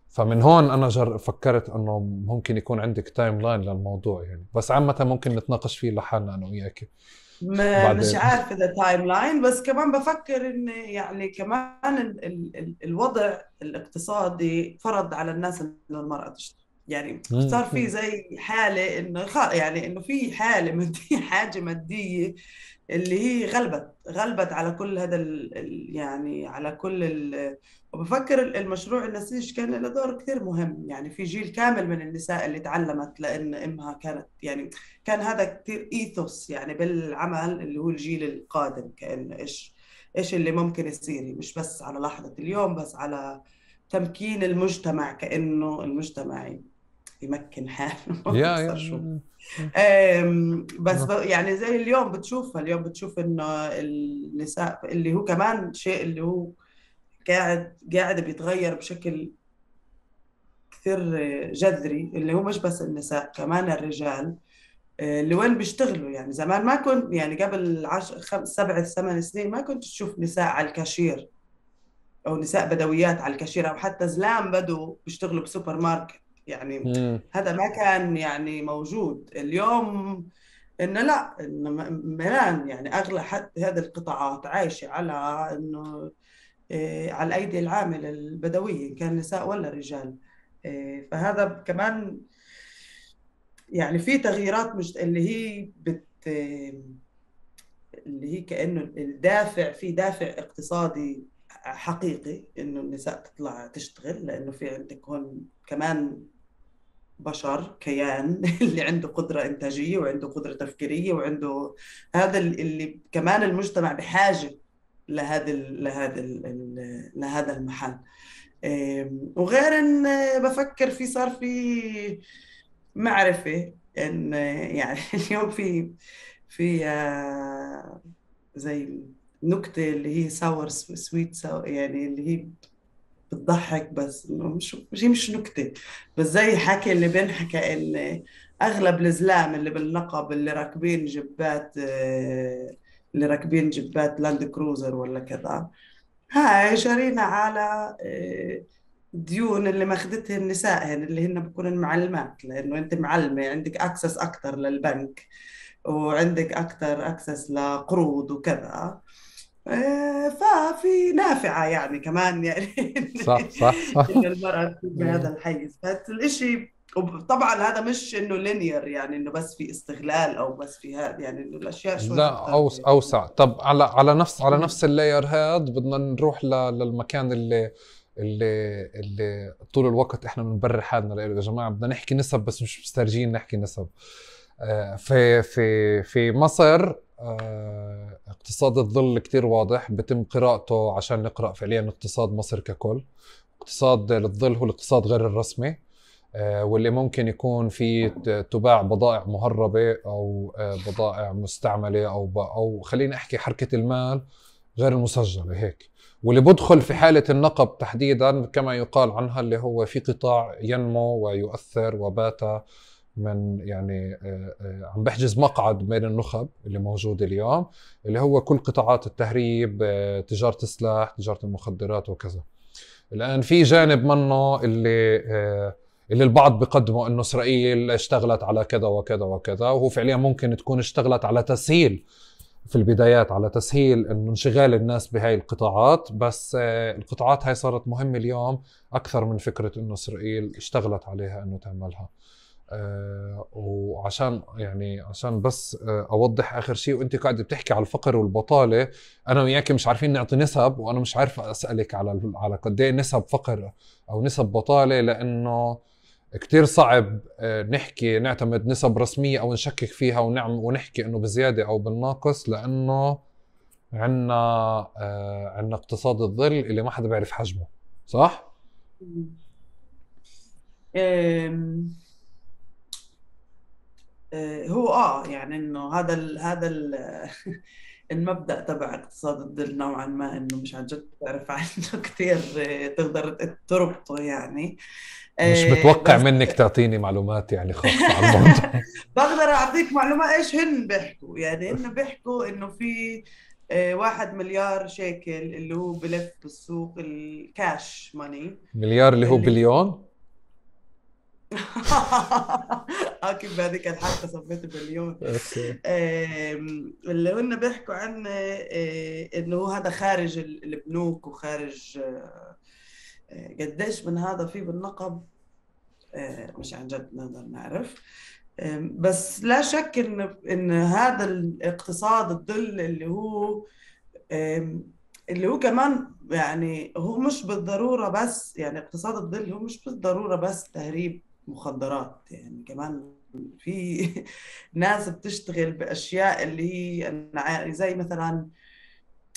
فمن هون انا جر فكرت انه ممكن يكون عندك تايم لاين للموضوع يعني، بس عامة ممكن نتناقش فيه لحالنا انا وياك ما مش بعدين. عارفة إذا تايم لاين، بس كمان بفكر إن يعني كمان ال ال ال الوضع الاقتصادي فرض على الناس إنه المرأة تشتغل، يعني مم. صار في زي حالة إنه خ- يعني إنه في حالة مادية، حاجة مادية اللي هي غلبت غلبت على كل هذا ال ال- يعني على كل ال وبفكر المشروع النسيج كان له دور كثير مهم، يعني في جيل كامل من النساء اللي تعلمت لأن إمها كانت، يعني كان هذا كثير ايثوس يعني بالعمل، اللي هو الجيل القادم، كأنه ايش ايش اللي ممكن يصير، مش بس على لحظة اليوم، بس على تمكين المجتمع، كأنه المجتمع يمكن حاله يا أبصر شو. يا أم، بس ب- يا يعني زي اليوم بتشوفها، اليوم بتشوف انه النساء اللي هو كمان شيء اللي هو قاعد قاعد بيتغير بشكل كثير جذري، اللي هو مش بس النساء، كمان الرجال اللي وين بيشتغلوا. يعني زمان ما كنت، يعني قبل عشر خمس سبع ثمان سنين ما كنت تشوف نساء على الكاشير، او نساء بدويات على الكاشير، او حتى زلام بدو بيشتغلوا بسوبر ماركت، يعني مم. هذا ما كان يعني موجود. اليوم انه لا، انه م- ملان، يعني اغلى حتى هذه القطاعات عايشه على انه إيه، على الايدي العامله البدويه، إن كان نساء ولا رجال. إيه، فهذا كمان يعني في تغييرات مش اللي هي بت اللي هي كأنه الدافع، في دافع اقتصادي حقيقي إنه النساء تطلع تشتغل، لأنه في عندك هون كمان بشر، كيان اللي عنده قدرة إنتاجية وعنده قدرة تفكيرية وعنده هذا اللي كمان المجتمع بحاجة لهذا ال لهذا ال لهذا المحل. وغير إن بفكر في صار في معرفة إن يعني اليوم في في آه، زي نكتة اللي هي ساور سويت ساور، يعني اللي هي بتضحك بس انه مش مش هي مش نكتة، بس زي حكي اللي بينحكى ان اغلب الزلام اللي بالنقب اللي راكبين جبات آه، اللي راكبين جبات لاند كروزر ولا كذا، هاي شارينا على آه، ديون اللي ماخدتها النساء هن اللي هن بكون المعلمات، لانه انت معلمة عندك اكسس اكتر للبنك وعندك اكتر اكسس لقروض وكذا. آه، ففي نافعة يعني كمان يعني صح صح صح. إن المرأة تكون بهذا الحيز، فالإشي طبعا هذا مش إنه لينير يعني إنه بس في استغلال أو بس في هذا، يعني إنه الأشياء شوي لا أكثر. أوس اوسع. طب على على نفس على نفس اللاير هاد بدنا نروح ل- للمكان اللي اللي اللي طول الوقت احنا بنبرر حالنا له. يا جماعه بدنا نحكي نسب بس مش مسترجين نحكي نسب. آه، في في في مصر آه، اقتصاد الظل كتير واضح، بتم قراءته عشان نقرأ فعليا اقتصاد مصر ككل. اقتصاد الظل هو الاقتصاد غير الرسمي، آه، واللي ممكن يكون في ت- تباع بضائع مهربة أو آه، بضائع مستعملة أو ب- أو خليني أحكي حركة المال غير المسجلة هيك. واللي بدخل في حالة النقب تحديدا كما يقال عنها اللي هو في قطاع ينمو ويؤثر وبات من يعني آه، آه، عم بحجز مقعد بين النخب اللي موجود اليوم، اللي هو كل قطاعات التهريب، آه، تجارة السلاح، تجارة المخدرات وكذا. الآن في جانب منه اللي آه، اللي البعض بيقدموا انه اسرائيل اشتغلت على كذا وكذا وكذا، وهو فعليا ممكن تكون اشتغلت على تسهيل في البدايات، على تسهيل انه انشغال الناس بهاي القطاعات. بس آه، القطاعات هاي صارت مهمة اليوم اكثر من فكرة انه اسرائيل اشتغلت عليها انه تعملها. آه وعشان يعني عشان بس آه اوضح اخر شيء، وانت قاعده بتحكي على الفقر والبطاله، انا وياك مش عارفين نعطي نسب، وانا مش عارف اسالك على على قد ايه نسب فقر او نسب بطاله، لانه كتير صعب آه نحكي نعتمد نسب رسميه او نشكك فيها ونعم ونحكي انه بزياده او بالناقص، لانه عندنا آه عندنا اقتصاد الظل اللي ما حدا بيعرف حجمه. صح؟ أم، آه، هو اه يعني انه هذا ال هذا ال المبدأ تبع اقتصاد الظل نوعا ما انه مش عن جد تعرف عنه كثير، آه، تقدر تربطه يعني. مش آه، متوقع بس منك تعطيني معلومات يعني خاصه على الموضوع. بقدر اعطيك معلومات ايش هن بيحكوا، يعني هن بيحكوا انه في آه، واحد مليار شيكل اللي هو بلف بالسوق الكاش ماني. مليار اللي هو اللي بليون. اكيد بهذيك الحلقه سميته مليون. اوكي. آم، اللي هن بيحكوا عنه آه، انه هو هذا خارج ال- البنوك وخارج آه، آه، قديش من هذا في بالنقب، آه، مش عن جد نقدر نعرف. آم، بس لا شك ان ان هذا الاقتصاد الظل اللي هو آم، اللي هو كمان يعني هو مش بالضرورة بس، يعني اقتصاد الظل هو مش بالضرورة بس تهريب مخدرات، يعني كمان في ناس بتشتغل بأشياء اللي هي أنا عا- زي مثلا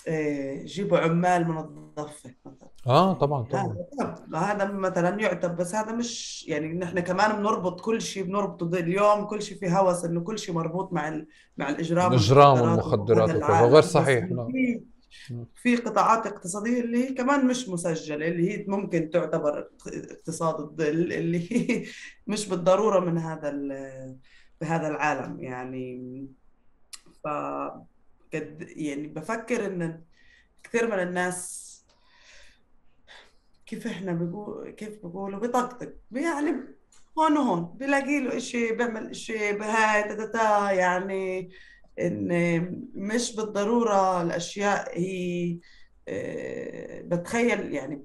آه، يجيبوا عمال من الضفة مثلا، اه طبعا يعني طبعا. هذا طب هذا مثلا يعتبر، بس هذا مش يعني نحن كمان بنربط كل شيء، بنربطه ضد- اليوم كل شيء في هوس انه كل شيء مربوط مع ال... مع الاجرام الاجرام والمخدرات وهذا والمخدرات وكذا، وغير العالم، بس صحيح. انه لا. في في قطاعات اقتصادية اللي هي كمان مش مسجلة، اللي هي ممكن تعتبر اقتصاد الظل، اللي هي مش بالضرورة من هذا ال... بهذا العالم يعني. ف قد يعني بفكر ان كثير من الناس كيف احنا بقول كيف بقولوا بطقطق يعني هون وهون بلاقي له اشي بيعمل اشي بهاي تاتا يعني، ان مش بالضرورة الاشياء هي آه، بتخيل يعني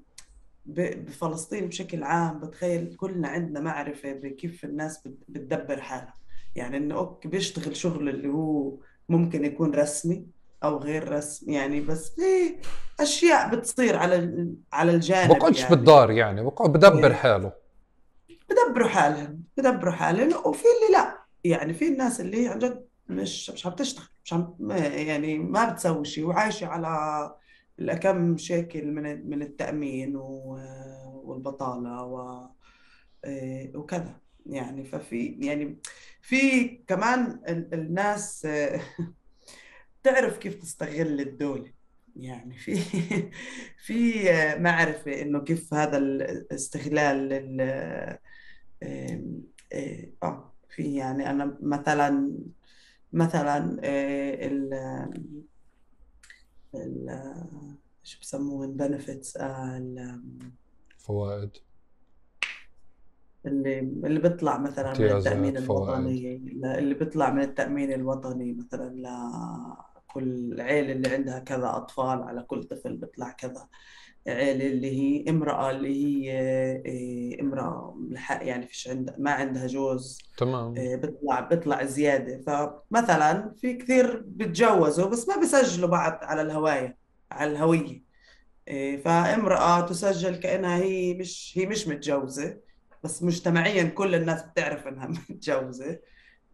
بفلسطين بشكل عام بتخيل كلنا عندنا معرفة بكيف الناس بتدبر حالها. يعني إنه أوكي بيشتغل شغل اللي هو ممكن يكون رسمي أو غير رسمي، يعني بس في أشياء بتصير على على الجانب بقعدش يعني بالدار، يعني بقعد بدبر حاله. بدبروا حالهم بدبروا حالهم وفي اللي لا، يعني في الناس اللي عن جد مش مش عم تشتغل، مش عم يعني ما بتسوي شيء وعايشة على الأكم شكل من من التأمين والبطالة و وكذا. يعني ففي يعني في كمان الناس تعرف كيف تستغل الدولة. يعني في في معرفة إنه كيف هذا الاستغلال اه في يعني انا مثلا مثلا آه، ال ال شو بسموه البنفيتس فوائد، اللي اللي بيطلع مثلا من التأمين امتيازات، فوائد. الوطني، اللي بيطلع من التأمين الوطني مثلا لكل عيلة اللي عندها كذا أطفال، على كل طفل بيطلع كذا. عيلة اللي هي امرأة اللي هي إيه، امرأة يعني فيش عندها ما عندها جوز، تمام. إيه، بيطلع بيطلع زيادة. فمثلا في كثير بتجوزوا بس ما بيسجلوا بعض على الهواية على الهوية. إيه، فامرأة تسجل كأنها هي مش هي مش متجوزة، بس مجتمعيا كل الناس بتعرف انها متجوزة،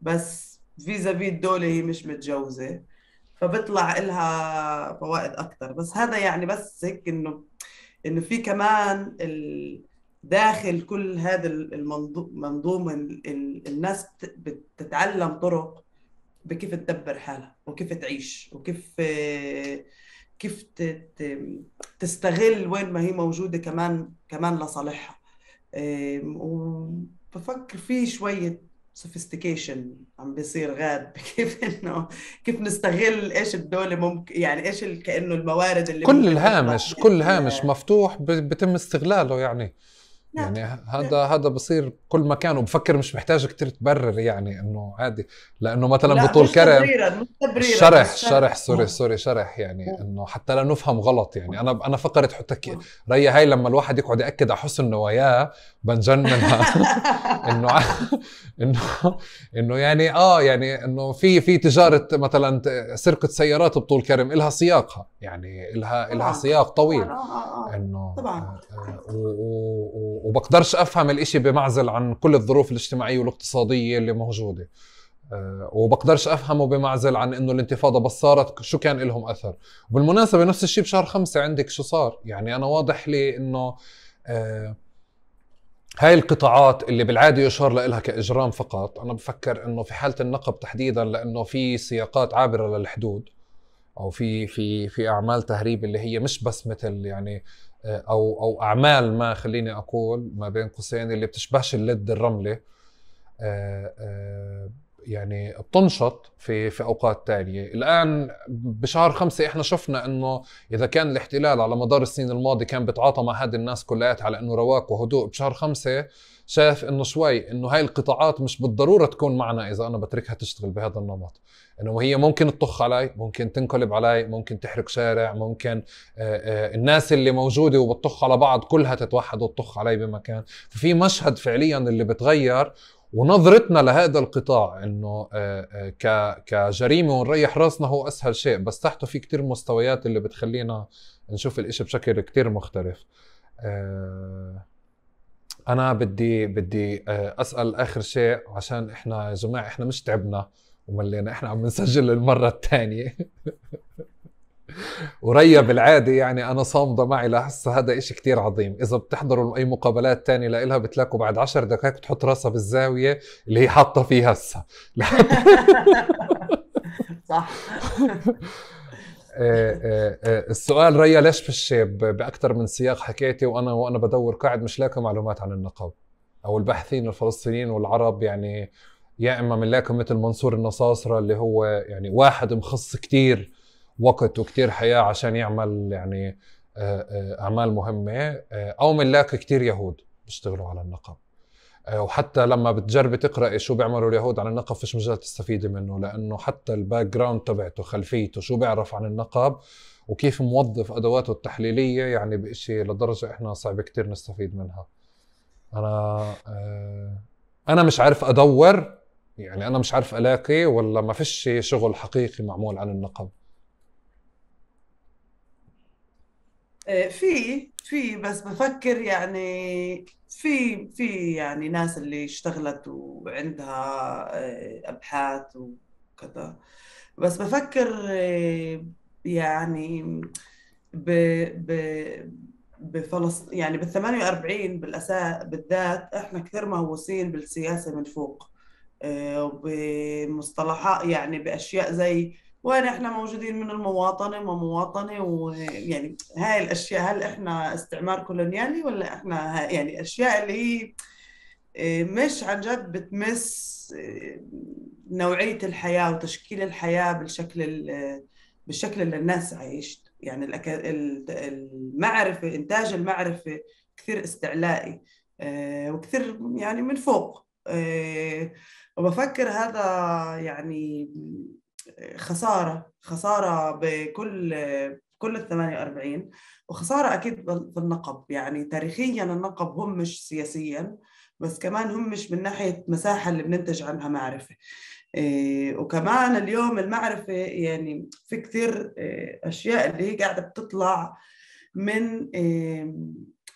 بس فيزا في الدولة هي مش متجوزة، فبيطلع لها فوائد أكتر. بس هذا يعني بس هيك إنه إنه في كمان ال... داخل كل هذا المنظومة الناس بتتعلم طرق بكيف تدبر حالها وكيف تعيش وكيف كيف تستغل وين ما هي موجودة كمان كمان لصالحها. وبفكر في شوية سوفيستيكيشن عم بيصير غاد كيف انه كيف نستغل ايش الدولة ممكن، يعني ايش كأنه الموارد اللي كل ممكن تطلع الهامش كل هامش مفتوح بيتم استغلاله. يعني لا. يعني هذا لا. هذا بصير كل مكان، وبفكر مش محتاج كتير تبرر، يعني انه عادي. لانه مثلا لا بطول مش كرم تبريرا مش تبريرا الشرح بس الشرح شرح. سوري آه. سوري شرح، يعني آه. انه حتى لا نفهم غلط. يعني انا انا فكرت حتى آه. ريا هاي لما الواحد يقعد ياكد على حسن نواياه بنجن منها. انه انه انه يعني اه يعني انه في في تجاره مثلا سرقه سيارات بطول كرم لها سياقها، يعني لها لها طبعا سياق طويل. طبعا اه اه اه انه طبعا. وبقدرش افهم الاشي بمعزل عن كل الظروف الاجتماعيه والاقتصاديه اللي موجوده. أه وبقدرش افهمه بمعزل عن انه الانتفاضه بس صارت شو كان لهم اثر. وبالمناسبه نفس الشيء بشهر خمسة عندك شو صار. يعني انا واضح لي انه أه هاي القطاعات اللي بالعاده يشار لها كاجرام فقط، انا بفكر انه في حاله النقب تحديدا لانه في سياقات عابره للحدود، او في في في اعمال تهريب اللي هي مش بس مثل يعني او او اعمال ما خليني اقول ما بين قوسين اللي بتشبهش اللد الرمله. يعني بتنشط في في اوقات تانية. الان بشهر خمسة احنا شفنا انه اذا كان الاحتلال على مدار السنين الماضيه كان بيتعاطى مع هذه الناس كلياتها على انه رواق وهدوء، بشهر خمسة شايف انه شوي انه هاي القطاعات مش بالضروره تكون معنا اذا انا بتركها تشتغل بهذا النمط. انه هي ممكن تطخ علي، ممكن تنقلب علي، ممكن تحرق شارع، ممكن آآ آآ الناس اللي موجوده وبتطخ على بعض كلها تتوحد وتطخ علي بمكان. ففي مشهد فعليا اللي بتغير، ونظرتنا لهذا القطاع انه كجريمه ونريح راسنا هو اسهل شيء، بس تحته في كتير مستويات اللي بتخلينا نشوف الاشي بشكل كتير مختلف. انا بدي بدي اسال اخر شيء، عشان احنا يا جماعه احنا مش تعبنا وملينا، احنا عم نسجل المره الثانيه. وريا بالعادة يعني أنا صامدة معي لهسه، هذا إشي كتير عظيم. إذا بتحضروا أي مقابلات تانية لإلها بتلاقوا بعد عشر دقائق تحط راسها بالزاوية اللي هي حاطة فيها هسه. صح. السؤال ريا، ليش فيش بأكثر من سياق حكيتي وأنا وأنا بدور قاعد مش لاقي معلومات عن النقب أو الباحثين الفلسطينيين والعرب؟ يعني يا إما بنلاقي مثل منصور النصاصرة اللي هو يعني واحد مخص كتير وقت وكتير حياة عشان يعمل يعني أعمال مهمة، أو منلاقي كتير يهود بيشتغلوا على النقب. وحتى لما بتجربي تقرأي شو بيعملوا اليهود على النقب فيش مجال تستفيدي منه، لأنه حتى الباك جراوند تبعته خلفيته شو بيعرف عن النقب وكيف موظف أدواته التحليلية يعني بإشي لدرجة إحنا صعب كتير نستفيد منها. أنا أنا مش عارف أدور، يعني أنا مش عارف ألاقي، ولا ما فيش شغل حقيقي معمول عن النقب؟ في في بس بفكر يعني في في يعني ناس اللي اشتغلت وعندها آه، أبحاث وكذا، بس بفكر آه، يعني ب ب بفلسطين يعني بال ثمانية وأربعين بالأساس بالذات احنا كثير مهووسين بالسياسة من فوق، آه، وبمصطلحات يعني بأشياء زي وين احنا موجودين من المواطنة وما مواطنة، ويعني هاي الأشياء هل احنا استعمار كولونيالي ولا احنا ها- يعني أشياء اللي هي آه، مش عن جد بتمس آه، نوعية الحياة وتشكيل الحياة بالشكل ال- بالشكل اللي الناس عايشت. يعني الأكا- ال- المعرفة إنتاج المعرفة كثير استعلائي آه، وكثير يعني من فوق، آه، وبفكر هذا يعني خسارة خسارة بكل كل ال ثمانية وأربعين، وخسارة أكيد في النقب. يعني تاريخيا النقب هم مش سياسيا بس كمان هم مش من ناحية مساحة اللي بننتج عنها معرفة. إيه، وكمان اليوم المعرفة يعني في كثير إيه، أشياء اللي هي قاعدة بتطلع من إيه،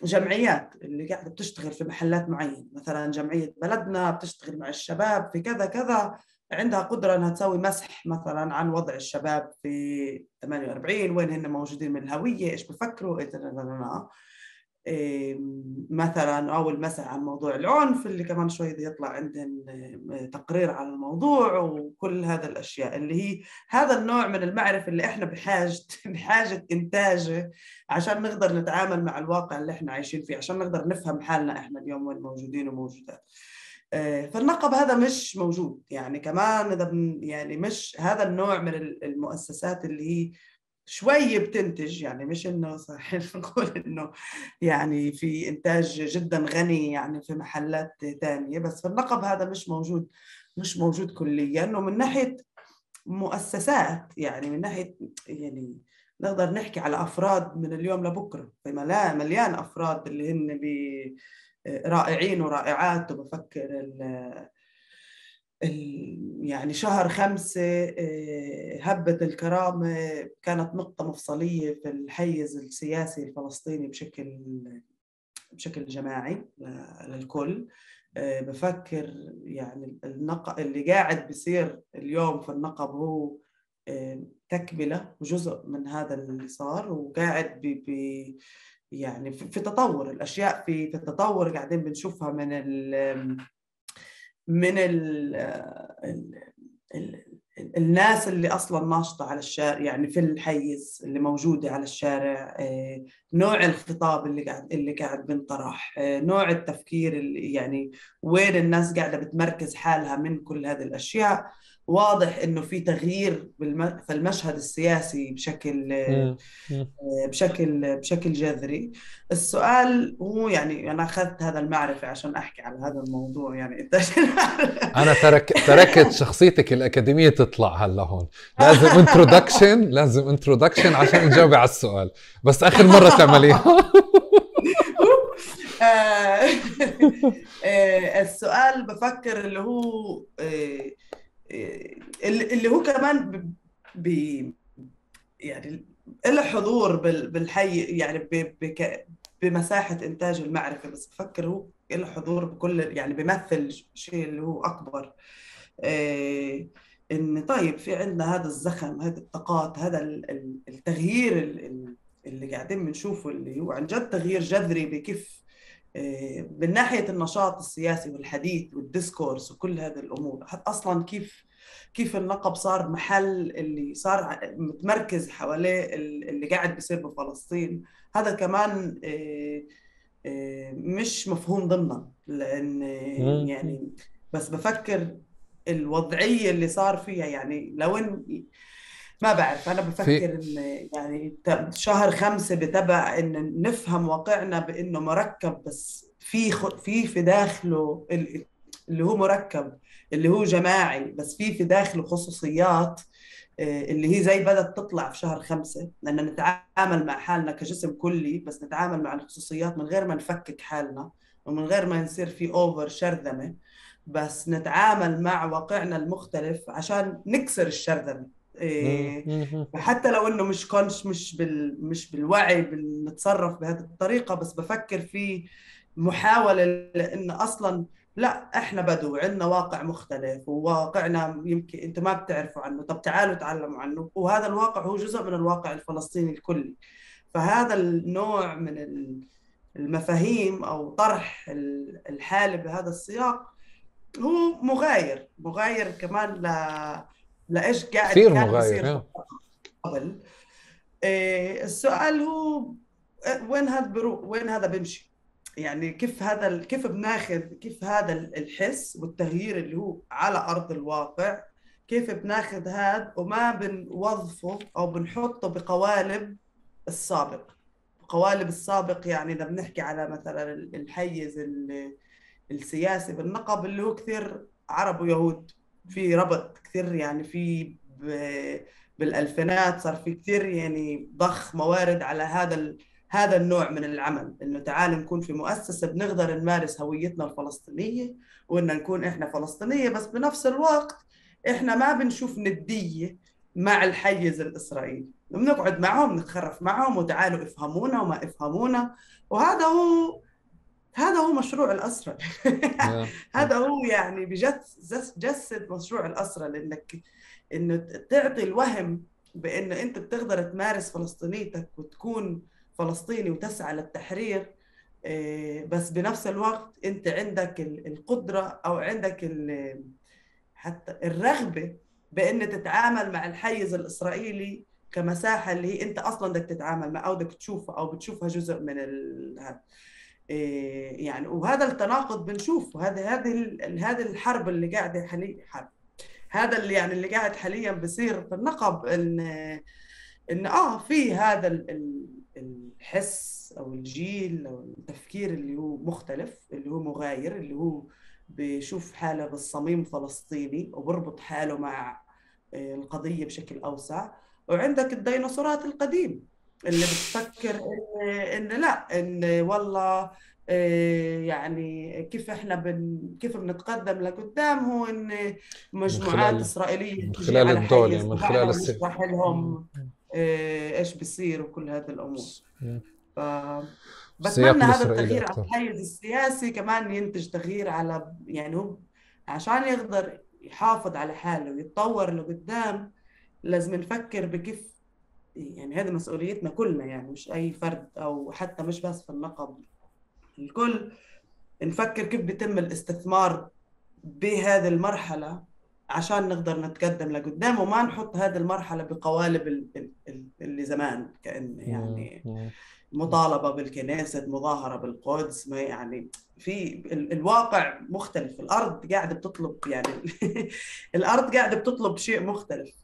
جمعيات اللي قاعدة بتشتغل في محلات معينة. مثلا جمعية بلدنا بتشتغل مع الشباب في كذا كذا، عندها قدرة أنها تسوي مسح مثلا عن وضع الشباب في ثمانية وأربعين، وين هن موجودين من الهوية، إيش بفكروا، إيه إيه مثلا، أو المسح عن موضوع العنف اللي كمان شوي بده يطلع عندهم إيه، تقرير عن الموضوع، وكل هذا الأشياء اللي هي هذا النوع من المعرفة اللي إحنا بحاجة بحاجة إنتاجه عشان نقدر نتعامل مع الواقع اللي إحنا عايشين فيه، عشان نقدر نفهم حالنا إحنا اليوم وين موجودين وموجودات. فالنقب هذا مش موجود. يعني كمان إذا يعني مش هذا النوع من المؤسسات اللي هي شوي بتنتج، يعني مش إنه صحيح نقول إنه يعني في إنتاج جدا غني يعني في محلات تانية، بس في النقب هذا مش موجود، مش موجود كليا. ومن ناحية مؤسسات يعني من ناحية يعني نقدر نحكي على أفراد من اليوم لبكرة، في مليان أفراد اللي هن رائعين ورائعات. وبفكر ال يعني شهر خمسة هبة الكرامة كانت نقطة مفصلية في الحيز السياسي الفلسطيني بشكل بشكل جماعي للكل. بفكر يعني النقب اللي قاعد بيصير اليوم في النقب هو تكملة وجزء من هذا اللي صار، وقاعد بي بي يعني في تطور الأشياء، في في تطور قاعدين بنشوفها من ال من ال ال الناس اللي اصلا ناشطه على الشارع، يعني في الحيز اللي موجوده على الشارع، نوع الخطاب اللي قاعد اللي قاعد بنطرح، نوع التفكير اللي يعني وين الناس قاعده بتمركز حالها من كل هذه الاشياء. واضح انه في تغيير في المشهد السياسي بشكل بشكل بشكل جذري. السؤال هو يعني أنا أخذت هذا المعرفة عشان أحكي على هذا الموضوع، يعني أنت أنا ترك تركت شخصيتك الأكاديمية تطلع هلا هون، لازم انترودكشن لازم انترودكشن عشان تجاوبي على السؤال، بس آخر مرة تعمليها. السؤال بفكر اللي هو اللي هو كمان ب يعني له حضور بالحي، يعني بمساحة إنتاج المعرفة، بس بفكر هو له حضور بكل يعني بيمثل شيء اللي هو أكبر. إيه إن طيب في عندنا هذا الزخم، هذه الطاقات، هذا التغيير اللي قاعدين بنشوفه اللي هو عن جد تغيير جذري بكيف إيه من ناحية النشاط السياسي والحديث والديسكورس وكل هذه الأمور. أصلا كيف كيف النقب صار محل اللي صار متمركز حواليه اللي قاعد بيصير بفلسطين. هذا كمان مش مفهوم ضمنا، لأن يعني بس بفكر الوضعية اللي صار فيها، يعني لو إن ما بعرف، أنا بفكر إن يعني شهر خمسة بتبع إن نفهم واقعنا بإنه مركب، بس في في في داخله اللي هو مركب اللي هو جماعي، بس في في داخله خصوصيات اللي هي زي بدأت تطلع في شهر خمسة، لأن نتعامل مع حالنا كجسم كلي، بس نتعامل مع الخصوصيات من غير ما نفكك حالنا ومن غير ما يصير في أوفر شرذمة، بس نتعامل مع واقعنا المختلف عشان نكسر الشرذمة. إيه، حتى لو انه مش كونش مش بال مش بالوعي بنتصرف بهذه الطريقة، بس بفكر في محاولة لأن أصلا لا احنا بدو عندنا واقع مختلف، وواقعنا يمكن انتم ما بتعرفوا عنه، طب تعالوا تعلموا عنه، وهذا الواقع هو جزء من الواقع الفلسطيني الكلي. فهذا النوع من المفاهيم او طرح الحالة بهذا السياق هو مغاير مغاير كمان ل لايش قاعد كثير كان مغاير بيصير قبل. إيه، السؤال هو وين هذا بروح، وين هذا بيمشي؟ يعني كيف هذا ال... كيف بناخذ كيف هذا الحس والتغيير اللي هو على ارض الواقع، كيف بناخذ هذا وما بنوظفه او بنحطه بقوالب السابق. قوالب السابق يعني اذا بنحكي على مثلا الحيز السياسي بالنقب اللي هو كثير عرب ويهود، في ربط كثير يعني في ب... بالالفينات صار في كثير يعني ضخ موارد على هذا ال... هذا النوع من العمل، انه تعال نكون في مؤسسه بنقدر نمارس هويتنا الفلسطينيه، وان نكون احنا فلسطينيه، بس بنفس الوقت احنا ما بنشوف نديه مع الحيز الاسرائيلي، بنقعد معهم نتخرف معهم وتعالوا افهمونا وما افهمونا. وهذا هو هذا هو مشروع الأسرة. هذا هو يعني بجسد مشروع الأسرة، لأنك إنه تعطي الوهم بأن أنت بتقدر تمارس فلسطينيتك وتكون فلسطيني وتسعى للتحرير، بس بنفس الوقت أنت عندك القدرة أو عندك حتى الرغبة بأن تتعامل مع الحيز الإسرائيلي كمساحة اللي هي أنت أصلاً بدك تتعامل مع أو بدك تشوفها أو بتشوفها جزء من هذا. يعني وهذا التناقض بنشوفه، هذه هذه هذه الحرب اللي قاعده حاليا، حرب هذا اللي يعني اللي قاعد حاليا بصير في النقب، ان ان اه في هذا الحس او الجيل او التفكير اللي هو مختلف، اللي هو مغاير، اللي هو بيشوف حاله بالصميم فلسطيني وبربط حاله مع القضيه بشكل اوسع. وعندك الديناصورات القديم اللي بتفكر إن, إن لا إن والله يعني كيف إحنا بن كيف بنتقدم لقدام، هو إن مجموعات إسرائيلية تيجي على حيز من خلال ونشرح لهم إيش بيصير وكل هذه الأمور. ف بتمنى هذا التغيير على الحيز السياسي كمان ينتج تغيير على يعني هو عشان يقدر يحافظ على حاله ويتطور لقدام، لازم نفكر بكيف يعني هذه مسؤوليتنا كلنا، يعني مش أي فرد أو حتى مش بس في النقب، الكل نفكر كيف بيتم الاستثمار بهذه المرحلة عشان نقدر نتقدم لقدام، وما نحط هذه المرحلة بقوالب اللي زمان كأن يعني مطالبة بالكنيسة، مظاهرة بالقدس، ما يعني في الواقع مختلف، الأرض قاعدة بتطلب يعني الأرض قاعدة بتطلب شيء مختلف،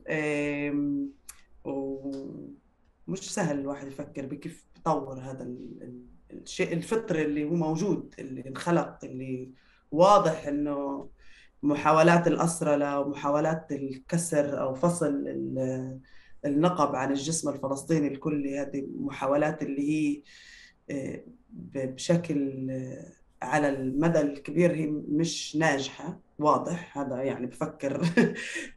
ومش سهل الواحد يفكر بكيف يطور هذا الشيء الفطري اللي هو موجود، اللي انخلق، اللي واضح انه محاولات الأسرة له ومحاولات الكسر او فصل النقب عن الجسم الفلسطيني الكلي، هذه محاولات اللي هي بشكل على المدى الكبير هي مش ناجحة، واضح هذا يعني بفكر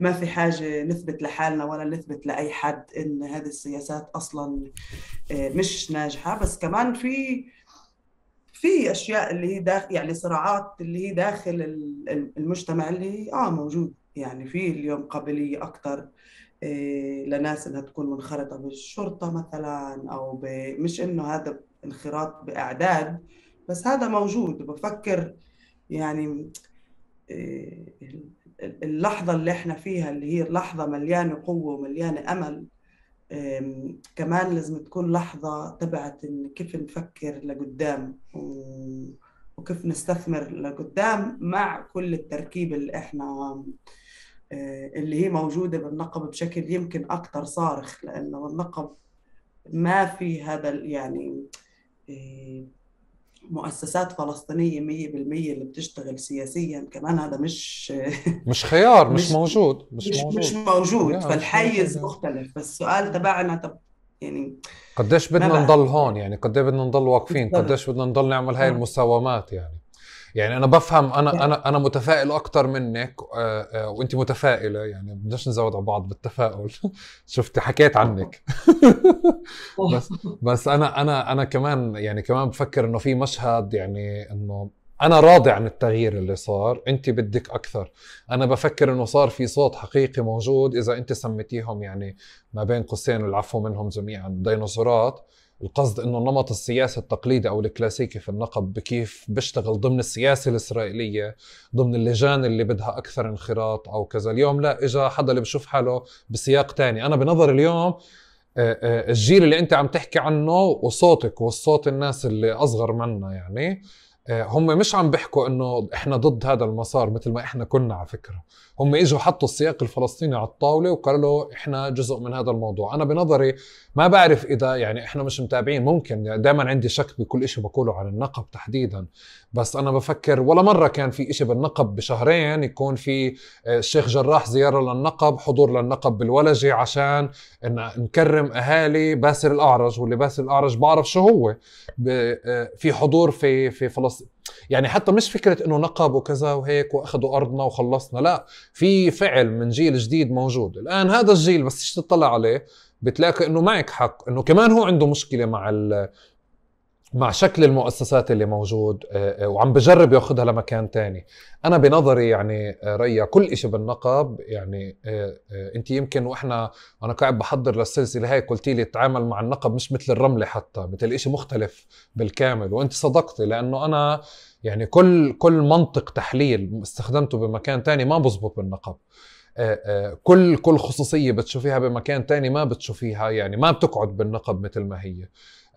ما في حاجة نثبت لحالنا ولا نثبت لأي حد إن هذه السياسات أصلا مش ناجحة، بس كمان في في أشياء اللي هي داخل يعني صراعات اللي هي داخل المجتمع اللي آه موجود، يعني في اليوم قابلية أكتر لناس إنها تكون منخرطة بالشرطة مثلا، أو مش إنه هذا انخراط بأعداد، بس هذا موجود. وبفكر يعني اللحظة اللي احنا فيها اللي هي لحظة مليانة قوة ومليانة أمل، كمان لازم تكون لحظة تبعت إن كيف نفكر لقدام وكيف نستثمر لقدام مع كل التركيب اللي احنا اللي هي موجودة بالنقب بشكل يمكن أكتر صارخ، لأنه النقب ما في هذا يعني مؤسسات فلسطينية مية بالمية اللي بتشتغل سياسيا كمان، هذا مش مش خيار، مش مش موجود، مش مش مش موجود. موجود، لا مش موجود فالحيز يعني. مختلف. فالسؤال تبعنا طب يعني قديش ما بدنا بعرف نضل هون يعني، قديش بدنا نضل واقفين، بالضبط. قديش بدنا نضل نعمل هاي آه. المساومات يعني. يعني انا بفهم، انا انا انا متفائل اكتر منك، آه، آه، وانت متفائله يعني، بدناش نزود على بعض بالتفاؤل. شفتي حكيت عنك. بس بس انا انا انا كمان يعني كمان بفكر انه في مشهد، يعني انه انا راضي عن التغيير اللي صار، انت بدك اكثر. انا بفكر انه صار في صوت حقيقي موجود، اذا انت سميتيهم يعني ما بين قوسين العفو منهم جميعا ديناصورات. القصد انه النمط السياسي التقليدي او الكلاسيكي في النقب بكيف بيشتغل ضمن السياسة الاسرائيلية، ضمن اللجان اللي بدها اكثر انخراط او كذا. اليوم لا، اجا حدا اللي بشوف حاله بسياق تاني. انا بنظر اليوم آه، آه، الجيل اللي انت عم تحكي عنه وصوتك والصوت الناس اللي اصغر منا يعني، آه، هم مش عم بيحكوا انه احنا ضد هذا المسار مثل ما احنا كنا. على فكرة هم اجوا حطوا السياق الفلسطيني على الطاولة وقالوا له احنا جزء من هذا الموضوع. انا بنظري ما بعرف اذا يعني احنا مش متابعين، ممكن يعني دائما عندي شك بكل اشي بقوله عن النقب تحديدا. بس انا بفكر ولا مرة كان في اشي بالنقب بشهرين يكون في آه، الشيخ جراح زيارة للنقب، حضور للنقب بالولجة عشان إن نكرم اهالي باسل الاعرج، واللي باسل الاعرج بعرف شو هو. في حضور في في فلسطين يعني، حتى مش فكره انه نقب وكذا وهيك واخذوا ارضنا وخلصنا، لا، في فعل من جيل جديد موجود الان. هذا الجيل بس تطلع عليه بتلاقي انه معك حق، انه كمان هو عنده مشكله مع مع شكل المؤسسات اللي موجود، وعم بجرب ياخدها لمكان تاني. انا بنظري يعني ريا كل اشي بالنقب يعني، انت يمكن واحنا انا قاعد بحضر للسلسله هاي قلتي لي تعامل مع النقب مش مثل الرمله، حتى مثل اشي مختلف بالكامل، وانت صدقتي. لانه انا يعني كل كل منطق تحليل استخدمته بمكان تاني ما بزبط بالنقب. كل كل خصوصيه بتشوفيها بمكان تاني ما بتشوفيها، يعني ما بتقعد بالنقب مثل ما هي.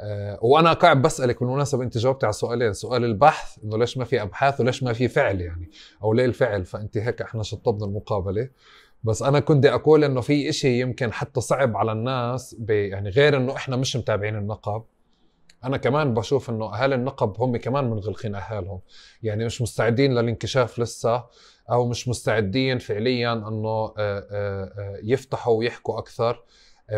أه وانا قاعد بسالك بالمناسبه، انت جاوبتي على سؤالين، سؤال البحث انه ليش ما في ابحاث وليش ما في فعل يعني، او ليه الفعل، فانت هيك احنا شطبنا المقابله. بس انا كنت اقول انه في اشي يمكن حتى صعب على الناس يعني، غير انه احنا مش متابعين النقب. انا كمان بشوف انه اهالي النقب هم كمان منغلقين اهالهم، يعني مش مستعدين للانكشاف لسه، او مش مستعدين فعليا انه يفتحوا ويحكوا اكثر.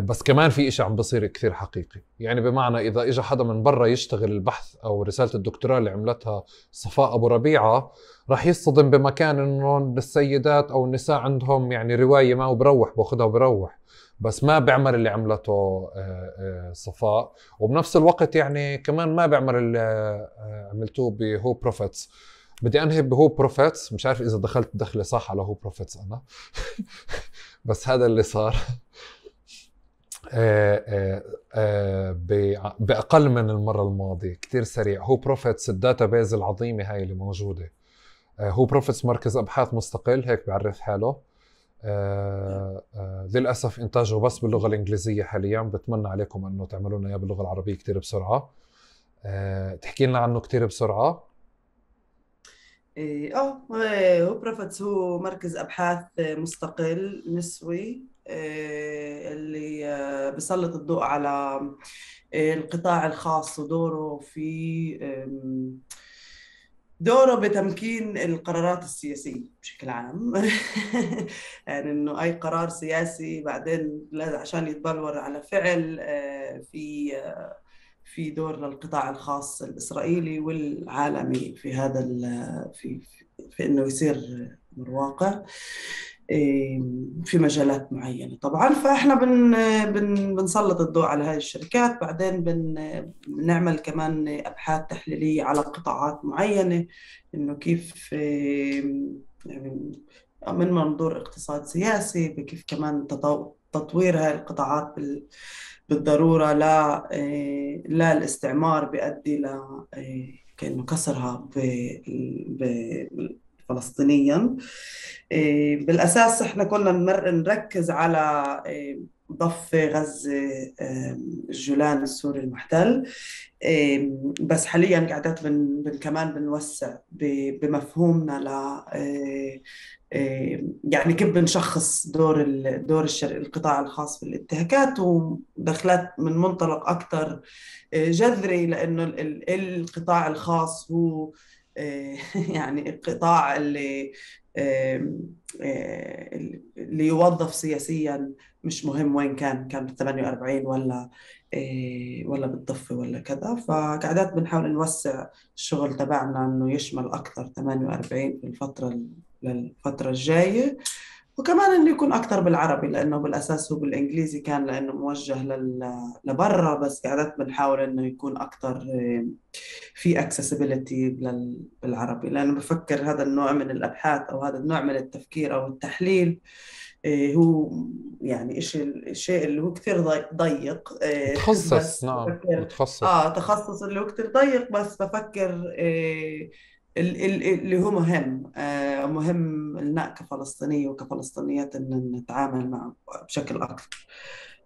بس كمان في اشي عم بصير كثير حقيقي، يعني بمعنى اذا اجى حدا من برا يشتغل البحث او رسالة الدكتوراه اللي عملتها صفاء ابو ربيعة، راح يصطدم بمكان انه السيدات او النساء عندهم يعني رواية ما، وبروح باخذها وبروح، بس ما بيعمل اللي عملته صفاء. وبنفس الوقت يعني كمان ما بيعمل اللي عملتوه بهو بروفيتس. بدي انهي بهو بروفيتس، مش عارف اذا دخلت دخلة صح على هو بروفيتس انا. بس هذا اللي صار. آه آه آه بأقل من المرة الماضية كتير سريع. هو بروفيتس الداتا بيز العظيمة هاي اللي موجودة. آه هو بروفيتس مركز أبحاث مستقل هيك بيعرف حاله. آه آه للأسف إنتاجه بس باللغة الإنجليزية حاليا، بتمنى عليكم أنه تعملوا لنا إياه باللغة العربية كتير بسرعة. آه تحكي لنا عنه كتير بسرعة. إيه، اه هو بروفيتس هو مركز ابحاث مستقل نسوي، إيه، اللي آه، بيسلط الضوء على آه، القطاع الخاص ودوره في آم، دوره بتمكين القرارات السياسية بشكل عام. يعني انه اي قرار سياسي بعدين لازم عشان يتبلور على فعل، آه، في آه، في دور للقطاع الخاص الإسرائيلي والعالمي في هذا في في إنه يصير أمر واقع إيه، في مجالات معينة طبعا. فإحنا بن بن بنسلط الضوء على هذه الشركات، بعدين بن بنعمل كمان أبحاث تحليلية على قطاعات معينة، إنه كيف إيه، يعني من منظور اقتصاد سياسي، بكيف كمان تطو- تطوير هذه القطاعات بال بالضرورة. لا إيه، لا الاستعمار بيؤدي ل إيه، كأنه كسرها ب- ب- فلسطينيا. بالأساس إحنا كنا نركز على ضفة غزة الجولان السوري المحتل، بس حاليا قاعدات بن, بن كمان بنوسع بمفهومنا ل يعني كيف بنشخص دور دور القطاع الخاص في الانتهاكات، ودخلت من منطلق أكثر جذري، لأنه القطاع الخاص هو يعني القطاع اللي اللي يوظف سياسيا، مش مهم وين كان كان بالثمانية وأربعين ولا ولا بالضفة ولا كذا. فقاعدات بنحاول نوسع الشغل تبعنا إنه يشمل أكثر ثمانية وأربعين في الفترة للفترة الجاية، وكمان إنه يكون أكثر بالعربي، لأنه بالأساس هو بالإنجليزي كان لأنه موجه لبرا، بس قاعدات بنحاول إنه يكون أكثر في accessibility بالعربي، لأنه بفكر هذا النوع من الأبحاث أو هذا النوع من التفكير أو التحليل هو يعني الشيء الشيء اللي هو كثير ضيق. تخصص. نعم تخصص. آه تخصص اللي هو كثير ضيق، بس بفكر اللي هو مهم مهم لنا كفلسطينية وكفلسطينيات إن نتعامل معه بشكل أكثر.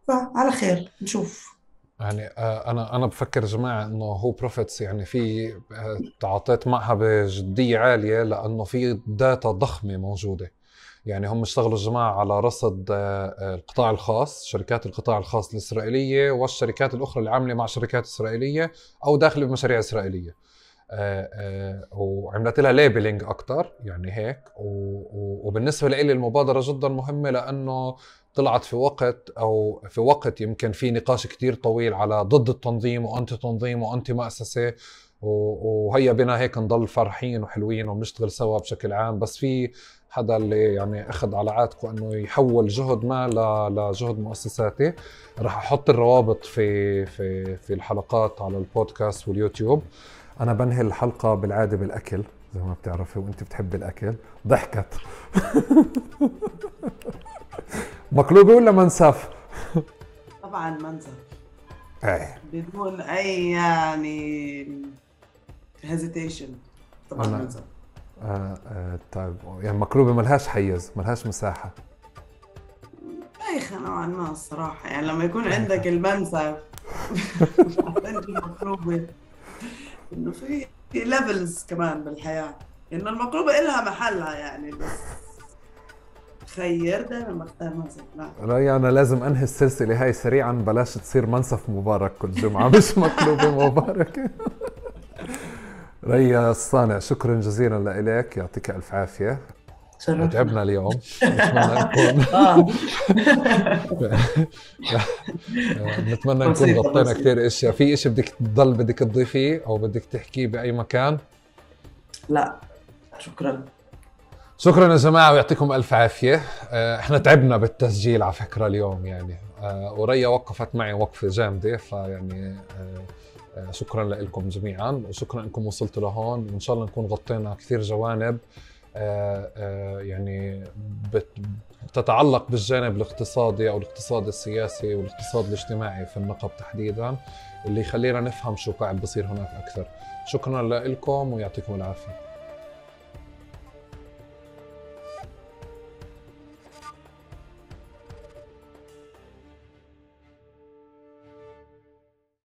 فعلى خير نشوف. يعني انا انا بفكر جماعه انه هو بروفيتس يعني في تعاطيت معها بجديه عاليه، لانه في داتا ضخمه موجوده. يعني هم اشتغلوا الجماعه على رصد القطاع الخاص، شركات القطاع الخاص الاسرائيليه والشركات الاخرى اللي عامله مع شركات اسرائيليه او داخله بمشاريع اسرائيليه، وعملت لها ليبلينج اكثر يعني هيك. وبالنسبه لي المبادره جدا مهمه، لانه طلعت في وقت او في وقت يمكن في نقاش كتير طويل على ضد التنظيم وانتي تنظيم وانتي مؤسسه، وهيا بنا هيك نضل فرحين وحلوين ونشتغل سوا بشكل عام. بس في حدا اللي يعني اخذ على عاتقه انه يحول جهد ما لجهد مؤسساتي. راح احط الروابط في في في الحلقات على البودكاست واليوتيوب. انا بنهي الحلقه بالعاده بالاكل زي ما بتعرفي، وانت بتحبي الاكل. ضحكت. مقلوبة ولا منسف؟ طبعا منسف. ايه بدون اي يعني hesitation. طبعا أنا... منسف. آه آه طيب يعني مقلوبة ملهاش حيز، ملهاش مساحة. بايخة نوعا ما الصراحة، يعني لما يكون عندك المنسف عندك المقلوبة، انه في ليفلز كمان بالحياة، انه المقلوبة إلها محلها يعني، بس خير دائما بختار منسف. لا رأيي أنا لازم أنهي السلسلة هاي سريعا، بلاش تصير منسف مبارك كل جمعة مش مقلوبة مباركة. ريا الصانع، شكرا جزيلا لإلك، يعطيك ألف عافية. تعبنا اليوم. نتمنى نكون نتمنى نكون غطينا كثير اشياء. في اشي بدك تضل بدك تضيفيه او بدك تحكيه باي مكان؟ لا شكرا. شكرا يا جماعه ويعطيكم الف عافيه. احنا تعبنا بالتسجيل على فكره اليوم يعني، وريا وقفت معي وقفه جامده، فيعني شكرا لكم جميعا، وشكرا انكم وصلتوا لهون، وان شاء الله نكون غطينا كثير جوانب آآ آآ يعني بتتعلق بالجانب الاقتصادي او الاقتصاد السياسي والاقتصاد الاجتماعي في النقب تحديدا، اللي يخلينا نفهم شو قاعد بصير هناك اكثر. شكرا لكم ويعطيكم العافيه.